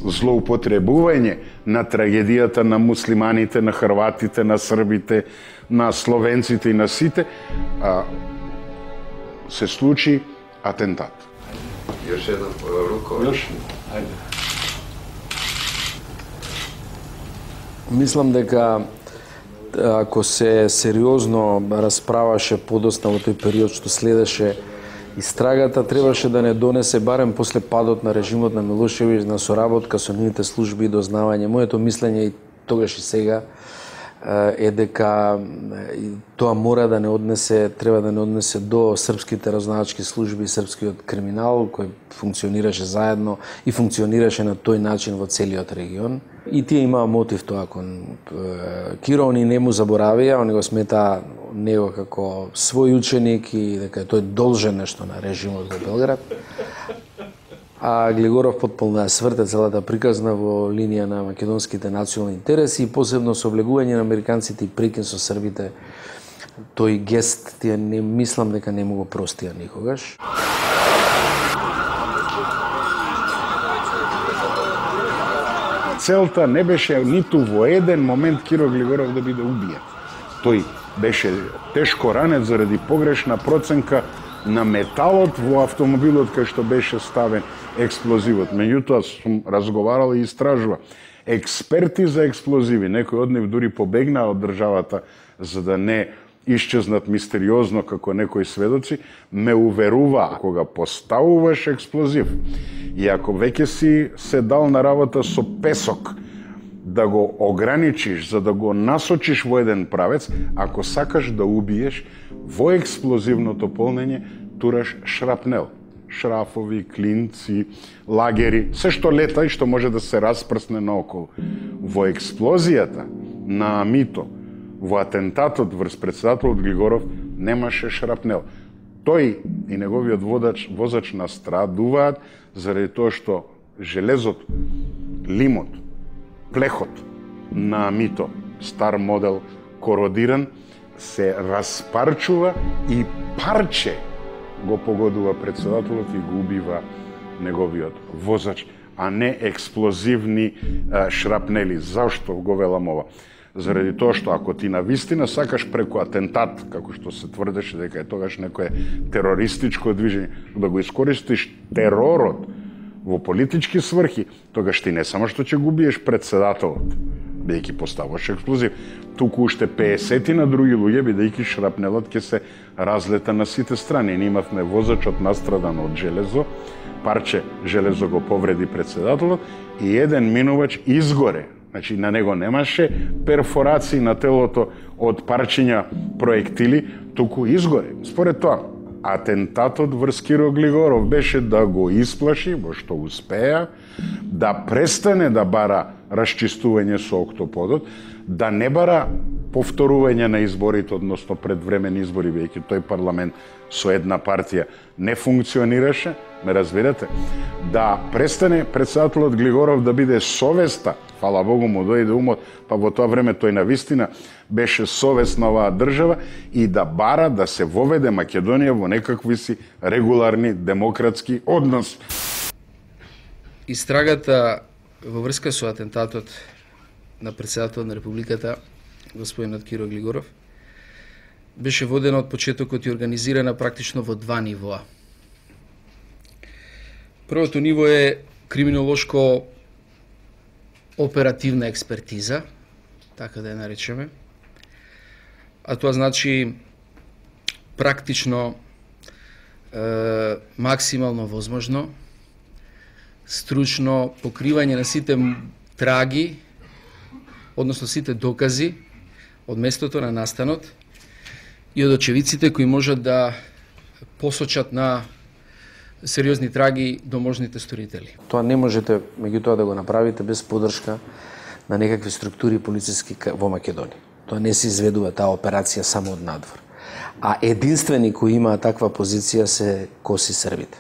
злоупотребување на трагедијата на муслиманите, на хрватите, на србите, на словенците и на сите, се случи атентат. Još jedan ruko. Još? Ajde. Мислам дека ако се сериозно расправаше подоцна во тој период што следеше истрагата, требаше да не донесе барем после падот на режимот на Милошевиќ на соработка со нивните служби и дознавање. Моето мислење и тогаш и сега е дека тоа мора да не однесе, треба да не однесе до српските разузнавачки служби и српскиот криминал кој функционираше заедно и функционираше на тој начин во целиот регион. И тие имаа мотив тоа кон Киро, они не му заборавија, они го сметаа него како свој ученик и дека тој должен нешто на режимот во Белград. А Глигоров потполно ја сврте целата приказна во линија на македонските национални интереси и посебно со облегување на американците и прекин со србите. Тој гест тие не мислам дека не му го простија никогаш. Целта не беше ниту во еден момент Киро Глигоров да биде убиен. Тој беше тешко ранет заради погрешна проценка на металот во автомобилот кај што беше ставен експлозивот. Меѓутоа сум разговарал и истражува. Експерти за експлозиви, некои од нив дури побегнаа од државата за да не исчезнат мистериозно како некои сведоци, ме уверуваа кога поставуваш експлозив и ако веќе си се дал на работа со песок да го ограничиш, за да го насочиш во еден правец, ако сакаш да убиеш, во експлозивното полнење тураш шрапнел. Шрафови, клинци, лагери, се што лета и што може да се распрсне наоколу. Во експлозијата на Амито, во атентатот врз председателот Глигоров, немаше шрапнел. Тој и неговиот возач настрадуваат заради тоа што железот, лимот, плехот на Амито, стар модел, кородиран, се распарчува и парче го погодува председателот и го убива неговиот возач, а не експлозивни шрапнели. Зашто го велам ова? Заради тоа што ако ти навистина сакаш преку атентат, како што се тврдеше дека е тогаш некое терористичко движење, да го искористиш теророт во политички сврхи, тогаш ти не само што ќе губиеш председателот, бидејќи поставуваш експлозив, туку уште 50 на други луѓе, бидејќи шрапнелот ќе се разлета на сите страни. Ние имавме возачот настрадан од железо, парче железо го повреди председателот и еден минувач изгоре. Значи, на него немаше перфорации на телото од парчиња проектили, туку изгоре. Според тоа, атентатот врз Киро Глигоров беше да го исплаши, во што успеа, да престане да бара расчистување со октоподот, да не бара повторување на изборите, односно предвремени избори, веќе тој парламент со една партија не функционираше, ме разбирате, да престане председателот Глигоров да биде совеста, фала Богу му дојде умот, па во тоа време тој навистина беше совест на оваа држава и да бара да се воведе Македонија во некакви си регуларни демократски односи. Истрагата во врска со атентатот на председателот на Републиката, господинот Киро Глигоров, беше водена од почетокот и организирана практично во два нивоа. Првото ниво е криминолошко оперативна експертиза, така да ја наречеме, а тоа значи практично максимално возможно стручно покривање на сите траги, односно сите докази од местото на настанот и од очевидците кои можат да посочат на сериозни траги до можните сторители. Тоа не можете меѓутоа да го направите без поддршка на некакви структури полициски во Македонија. Тоа не се изведува таа операција само од надвор. А единствени кои имаат таква позиција се коси србите.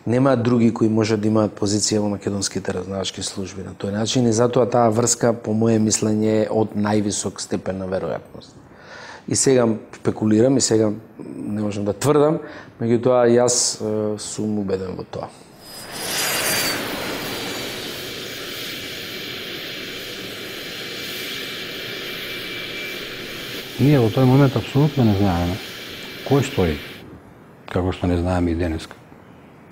Нема други кои можат да имаат позиција во македонските разузнавачки служби на тој начин и затоа таа врска, по моје мислење, е од највисок степен на веројатност. И сега спекулирам, и сега не можам да тврдам, меѓутоа јас сум убеден во тоа. Ние во тој момент апсолутно не знаеме кој стои, како што не знаеме и денеска,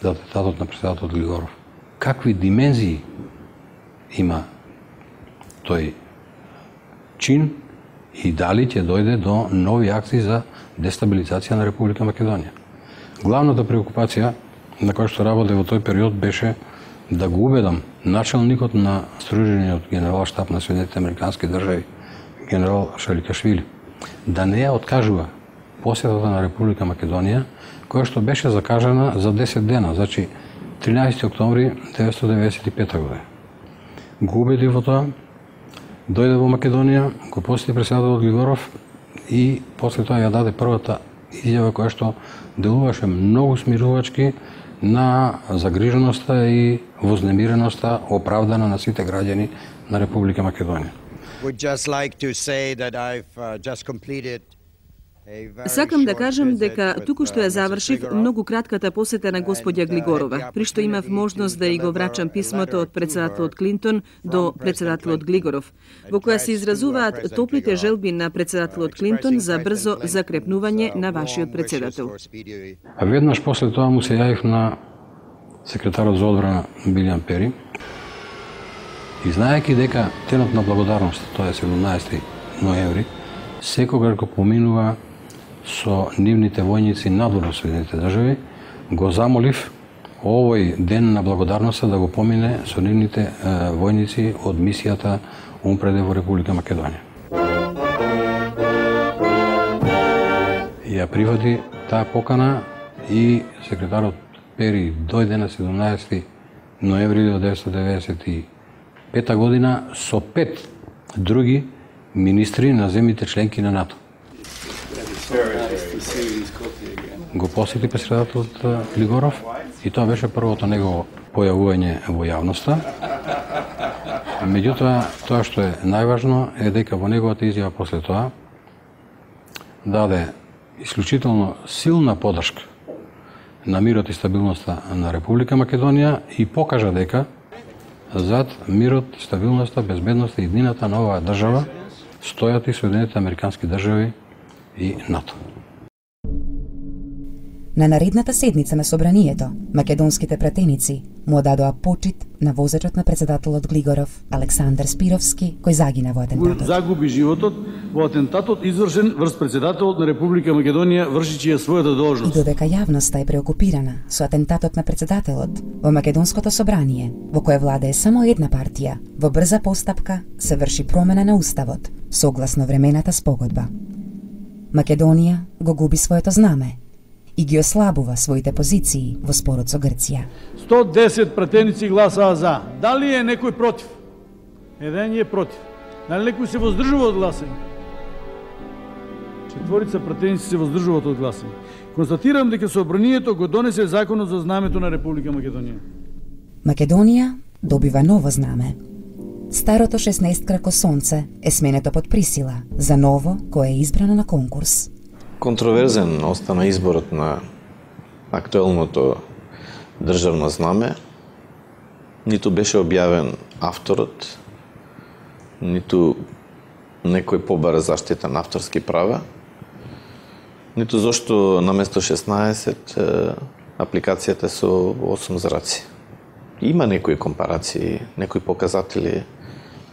за атентатот на председателот Глигоров. Какви димензии има тој чин и дали ќе дојде до нови акции за дестабилизација на Република Македонија. Главната преокупација на која што работе во тој период беше да го убедам началникот на стружениот генерал штаб на Соединетите Американски држави, генерал Шаликашвили, да не ја откажува посетата на Република Македонија, која што беше закажана за 10 дена, значи 13 октомври 1995 година. Го убеди во тоа, дојде во Македонија, го посети председателот Глигоров и после тоа ја даде првата изјава која што делуваше многу смирувачки на загриженоста и вознемиреноста оправдана на сите граѓани на Република Македонија. Сакам да кажам дека туку што ја завршив многу кратката посета на господја Глигорова, при што имав можност да и го врачам писмото од председателот Клинтон до председателот Глигоров, во која се изразуваат топлите желби на председателот Клинтон за брзо закрепнување на вашиот председател. А веднаш после тоа му се јавив на секретарот за одбрана Билјан Пери и знаејќи дека денот на благодарност, тоа е 17 ноември, секогаш го поминува со нивните војници надвор од Соединетите држави, го замолив овој ден на благодарноста да го помине со нивните војници од мисијата УНПРЕД во Република Македонија. Ја прифати таа покана и секретарот Пери дојде на 17 ноември 1995 година со 5 други министри на земјите членки на НАТО. Го посети председателот Глигоров и тоа беше првото негово појавување во јавноста. Меѓутоа, тоа што е најважно е дека во неговата изјава после тоа даде исклучително силна поддршка на мирот и стабилноста на Република Македонија и покажа дека зад мирот, стабилноста, безбедноста и иднината на оваа држава стојат и Соединетите Американски држави и НАТО. На наредната седница на собранието, македонските пратеници му дадоа почит на возачот на председателот Глигоров, Александар Спировски, кој загина во атентатот. Загуби животот во атентатот извршен врз председателот на Република Македонија вршичи ја својата должност. И додека јавноста е преокупирана со атентатот на председателот, во македонското собрание, во кое владее само една партија, во брза постапка се врши промена на уставот, согласно времената спогодба. Македонија го губи своето знаме и ги ослабува своите позиции во спорот со Грција. 110 пратеници гласаа за. Дали е некој против? Еден е против. Дали некој се воздржува од гласање? 4 пратеници се воздржуваат од гласање. Констатирам дека собранието го донесе законот за знамето на Република Македонија. Македонија добива ново знаме. Старото 16 крако сонце е сменето под присила за ново кое е избрано на конкурс. Контроверзен остана изборот на актуелното државно знаме. Ниту беше објавен авторот, ниту некој побара заштита на авторски права, ниту зошто наместо 16 апликацијата со 8 зраци. Има некои компарации, некои показатели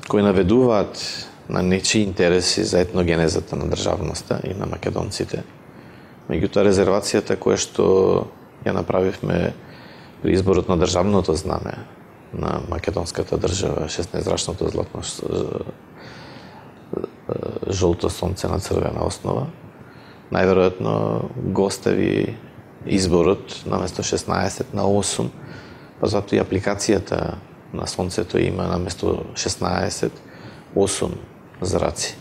кои наведуваат на нечии интереси за етногенезата на државноста и на македонците. Меѓутоа, резервацијата која што ја направивме при изборот на државното знаме на македонската држава, 16-зрачното златно жолто сонце на црвена основа. Најверојатно го остави изборот наместо 16 на 8, па затоа и апликацијата на сонцето има наместо 16 8 зраци.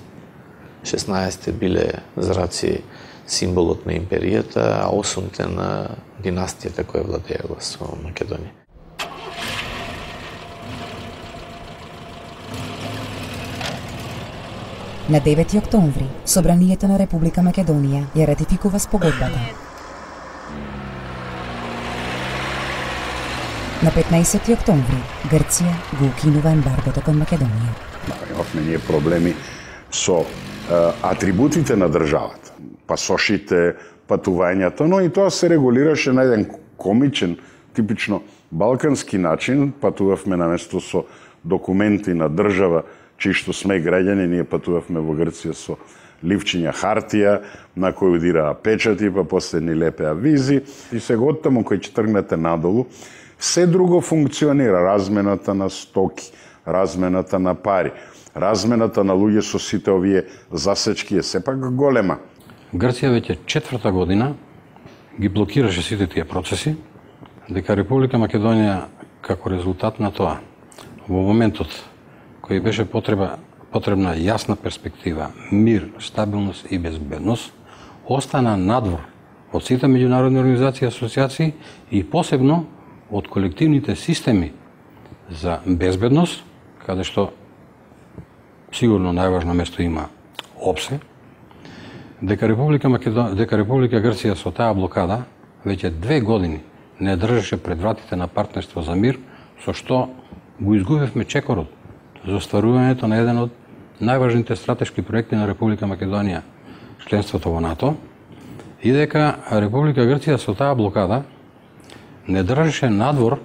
16 биле зраци символот на империјата, а 8-те на династијата која владеела со Македонија. На 9 октомври, Собранието на Република Македонија ја ратификува спогодбата. На 15 октомври, Грција го укинува ембаргото кон Македонија. Имавме ние проблеми со атрибутите на државата, пасошите, патувањата, но и тоа се регулираше на еден комичен, типично балкански начин. Патувавме наместо со документи на држава, чии што сме граѓани, ние патувавме во Грција со ливчиња хартија, на кој удираа печати, па после ни лепеа визи. И сега оттаму кој ќе тргнете надолу, се друго функционира. Размената на стоки, размената на пари, размената на луѓе со сите овие засечки е сепак голема. Грција веќе 4-та година ги блокираше сите тие процеси, дека Република Македонија како резултат на тоа, во моментот кој беше потребна јасна перспектива, мир, стабилност и безбедност, остана надвор од сите меѓународни организации и асоциации и посебно од колективните системи за безбедност, каде што сигурно најважно место има ОПСЕ, дека Република Грција со таа блокада веќе 2 години не држеше пред вратите на партнерство за мир, со што го изгубивме чекорот за остварувањето на еден од најважните стратешки проекти на Република Македонија, членството во НАТО, и дека Република Грција со таа блокада не држеше надвор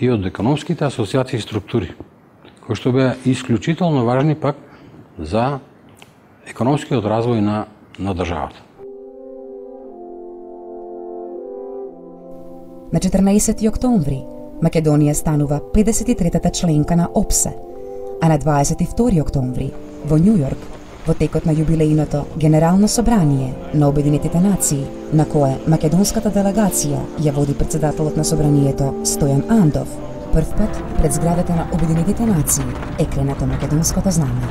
и од економските асоциации и структури, кои што беа исклучително важни пак за економскиот развој на државата. На 14 октомври Македонија станува 53-та членка на ОПСЕ, а на 22 октомври во Њу Јорк, во текот на јубилејното Генерално собрание на Обединетите нации, на кое македонската делегација ја води председателот на собранието Стојан Андов, прв пат пред зградата на Обединетите нации е кренато македонското знаме.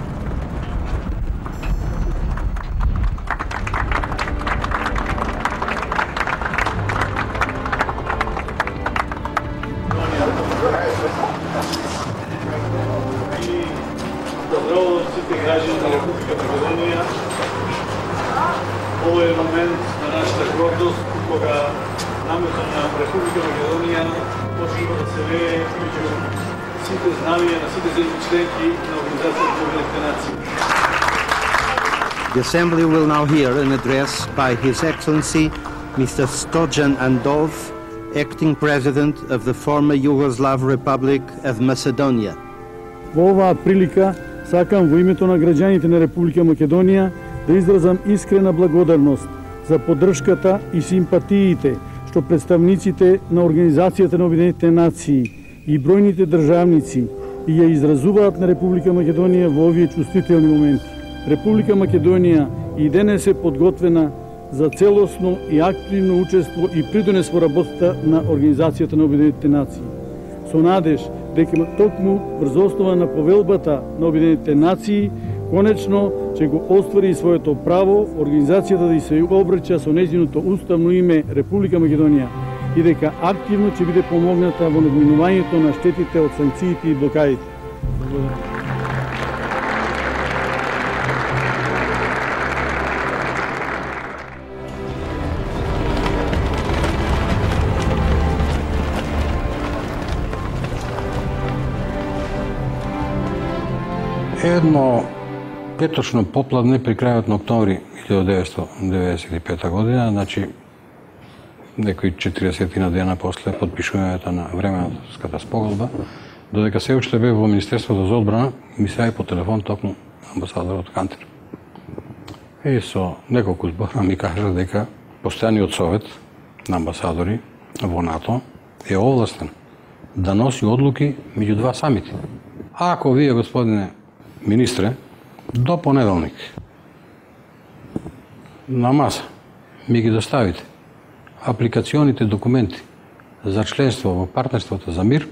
Ovo je moment na našата гордост, кога намето на Република Македонија почнува да се вее меѓу сите знамија на сите земји членки на Организацијата за Обединетите нации. The Assembly will now hear an address by His Excellency Mr. Stojan Andov, Acting President of the former Yugoslav Republic of Macedonia. Во оваа прилика сакам во името на граѓаните на Република Македонија да изразам искрена благодарност за поддршката и симпатиите што представниците на Организацијата на Обединетите нации и бројните државници и ја изразуваат на Република Македонија во овие чувствителни моменти. Република Македонија и денес е подготвена за целосно и активно учество и придонес во работата на Организацијата на Обединетите нации. Со надеж дека токму врз основа на повелбата на Обединетите нации конечно ќе го оствари своето право организацијата да се обраќа со нејзиното уставно име Република Македонија и дека активно ќе биде помогната во надминувањето на штетите од санкциите и блокадите. Благодарам. Едно петочно попладне при крајот на октомври 1995 година, значи некои 40 дена после подпишувањето на временската спогодба, додека се уште бев во Министерството за одбрана, ми се јави по телефон токму амбасадорот Кантер. И со неколку збора ми кажа дека постојаниот совет на амбасадори во НАТО е овластен да носи одлуки меѓу два самити. Ако вие, господине министре, до понеделник на маса ми ги доставите апликационите документи за членство во партнерството за мир,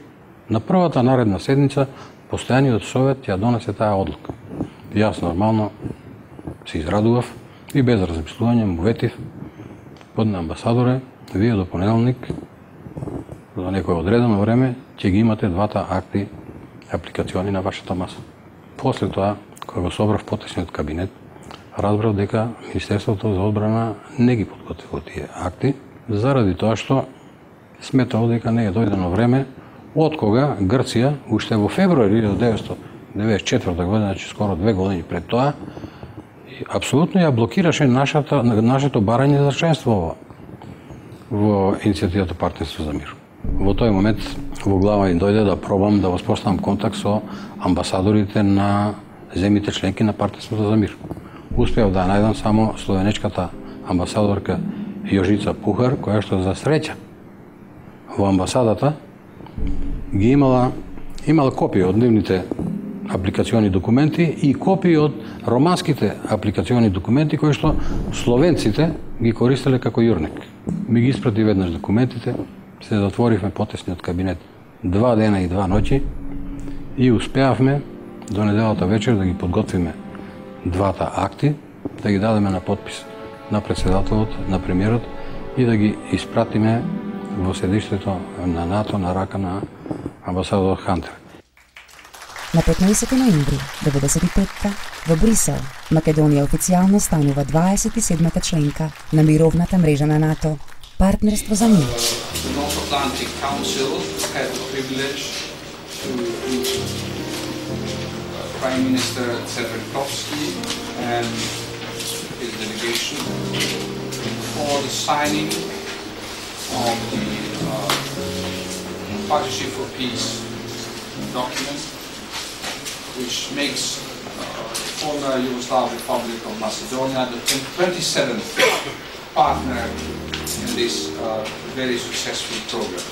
на првата наредна седница постојаниот совет ја донесе таа одлука. Јас нормално се израдував и без размислување му ветив под амбасадоре, вие до понеделник за некој одредено време ќе ги имате двата акти апликациони на вашата маса. После тоа, кога го собрав потесниот кабинет, разбрав дека Министерството за одбрана не ги подготвило тие акти, заради тоа што сметало дека не е дојдено време од кога Грција, уште во февруари 1994 година, значи скоро 2 години пред тоа, апсолутно ја блокираше нашето барање за членство во иницијативата Партнерство за мир. Во тој момент во глава им дојде да пробам да воспоставам контакт со амбасадорите на земјите членки на Партнерството за мир. Успеав да најдам само словенечката амбасадорка Јожица Пухар, која што за среќа во амбасадата ги имала копии од нивните апликациони документи и копии од романските апликациони документи кои што словенците ги користеле како јурник. Ми ги испрати веднаш документите, се затворивме потесниот кабинет 2 дена и 2 ноќи и успеавме до неделата вечер да ги подготвиме двата акти, да ги дадеме на подпис на председателот, на премиерот и да ги испратиме во седиштето на НАТО на рака на амбасадор Хантер. На 15 ноември 1995 во Брисел, Македонија официјално станува 27-та членка на мировната мрежа на НАТО, Партнерство за мир. The North Atlantic Council had the privilege to meet Prime Minister Tseverkovsky and his delegation for the signing of the Partnership for Peace document, which makes former Yugoslav Republic of Macedonia the 27th partner in this very successful program.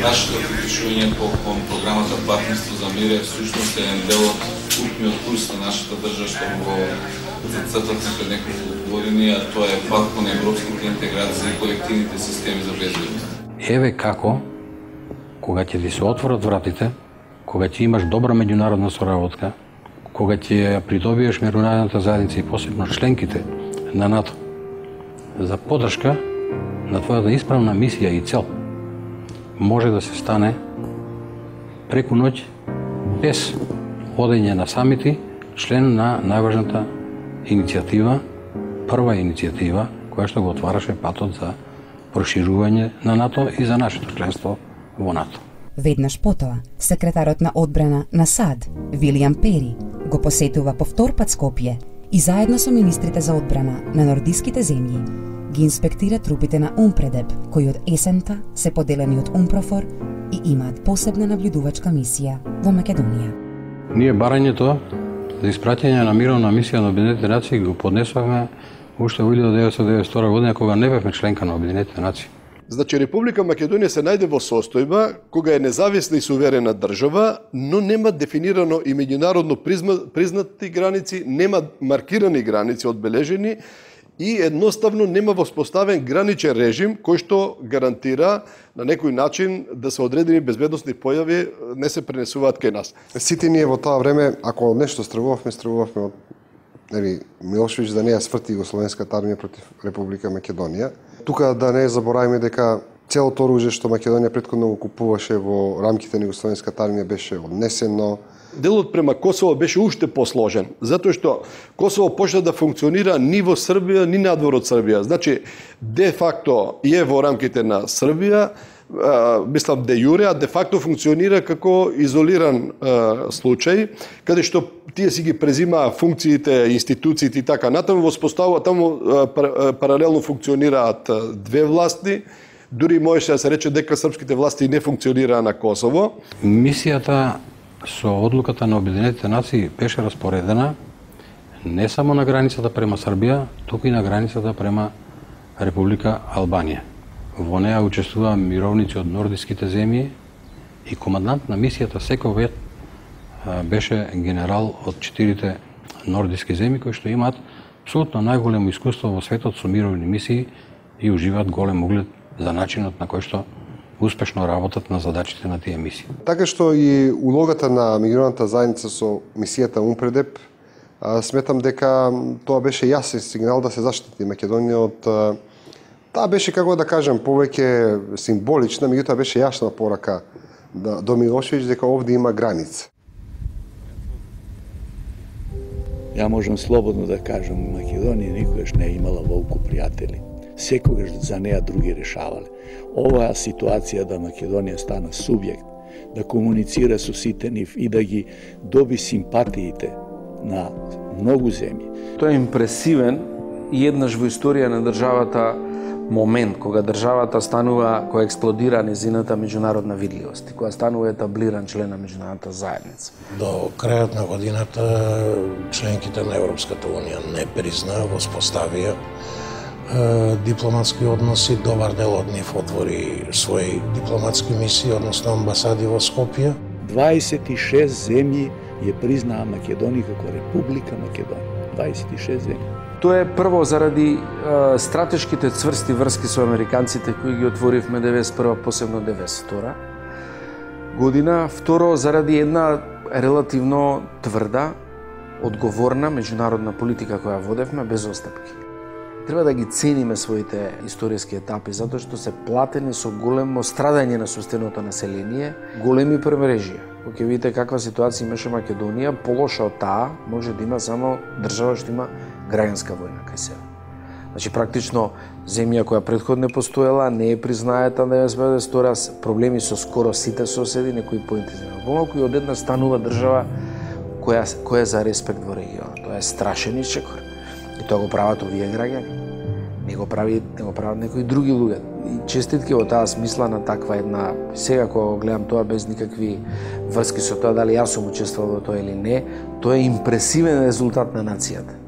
Нашето приклучување кон програмата Партнерство за мир е всушност еден дел од путниот курс на нашата држава што го зацртавме пред неколку години, а тоа е пат кон европските интеграции и колективните системи за безбедност. Еве како, кога ќе ти се отворат вратите, кога ќе имаш добра меѓународна соработка, кога ќе придобиеш меѓународната заедница и посебно членките на НАТО за поддршка на твојата исправна мисија и цел, може да се стане преку ноќ без одење на самити, член на најважната иницијатива, прва иницијатива која што го отвараше патот за проширување на НАТО и за нашето членство во НАТО. Веднаш потоа, секретарот на одбрана на САД, Вилијам Пери, го посетува повтор пат Скопје и заедно со министрите за одбрана на нордиските земји ги инспектира трупите на Умпредеп, кои од есента се поделени од Умпрофор и имаат посебна наблюдувачка мисија во Македонија. Ние барањето за испраќање на мировна мисија на Обединетите нации го поднесовме уште во 1992 година, кога не бевме членка на Обединетите нации. Значи, Република Македонија се најде во состојба кога е независна и суверена држава, но нема дефинирано и меѓународно признати граници, нема маркирани граници одбележени и едноставно нема воспоставен граничен режим кој што гарантира на некој начин да се одредени безбедносни појави не се пренесуваат кај нас. Сите ние во тоа време, ако нешто стравувавме од Милошевич да не ја сврти Југословенската армија против Република Македонија. Тука да не забораваме дека целото оружје што Македонија претходно го купуваше во рамките на Југословенската армија беше однесено. Делот према Косово беше уште посложен, затоа што Косово почна да функционира ни во Србија, ни надвор од Србија. Значи, де факто е во рамките на Србија, мислам де јуре, а де факто функционира како изолиран случај, каде што тие си ги презимаа функциите, институциите и така натаму, воспоставува таму паралелно функционираат две власти, дури можеше да се рече дека српските власти не функционираа на Косово. Мисијата со одлуката на Обединетите нации беше распоредена не само на границата према Србија, туку и на границата према Република Албанија. Во неа учествуваа мировници од нордиските земји И командант на мисијата секој беше генерал од 4 нордиски земји кои што имаат апсолутно најголемо искуство во светот со мировни мисии и уживаат голем углед за начинот на кој што успешно работат на задачите на тие мисии. Така што и улогата на меѓународната заедница со мисијата УНПРЕДЕП, сметам дека тоа беше јасен сигнал да се заштити Македонија од таа беше, како да кажем, повеќе символична, меѓутоа беше јасна порака до Милошевиќ дека овде има граница. Ја можам слободно да кажам, Македонија никогаш не е имала волку пријатели. Секогаш за неа други решавале. Оваа ситуација да Македонија стана субјект, да комуницира со сите нив и да ги доби симпатиите на многу земји. Тоа е импресивен и еднаш во историја на државата момент кога државата станува, кога експлодира незината меѓународна видливост и кога станува етаблиран член на меѓународната заедница. До крајот на годината членките на Европската унија не признаа, воспоставија дипломатски односи, добар дел од нив отвори своји дипломатски мисии, односно амбасади во Скопје. 26 земји ја признаа Македонија како Република Македонија. 26 земји. Тоа е прво заради стратешките цврсти врски со американците кои ги отворивме 91, посебно 92 година. Второ, заради една релативно тврда, одговорна меѓународна политика која водевме без остапки. Треба да ги цениме своите историски етапи, затоа што се платени со големо страдање на собственото население, големи премрежија. Кога ќе видите каква ситуација имаше Македонија, полоша од таа може да има само држава што има граѓанска војна кај себе. Значи, практично, земја која претходно постоела, не е признаета на 1992, проблеми со скоро сите соседи, некои поинтензивно помалку и од една станува држава која за респект во регионот. Тоа е страшен исчекор. И тоа го прават овие граѓани. Не го прават некои други луѓе. И честитки во таа смисла на таква една, сега кога гледам тоа без никакви врски со тоа дали јас сум учествувал во тоа или не, тоа е импресивен резултат на нацијата.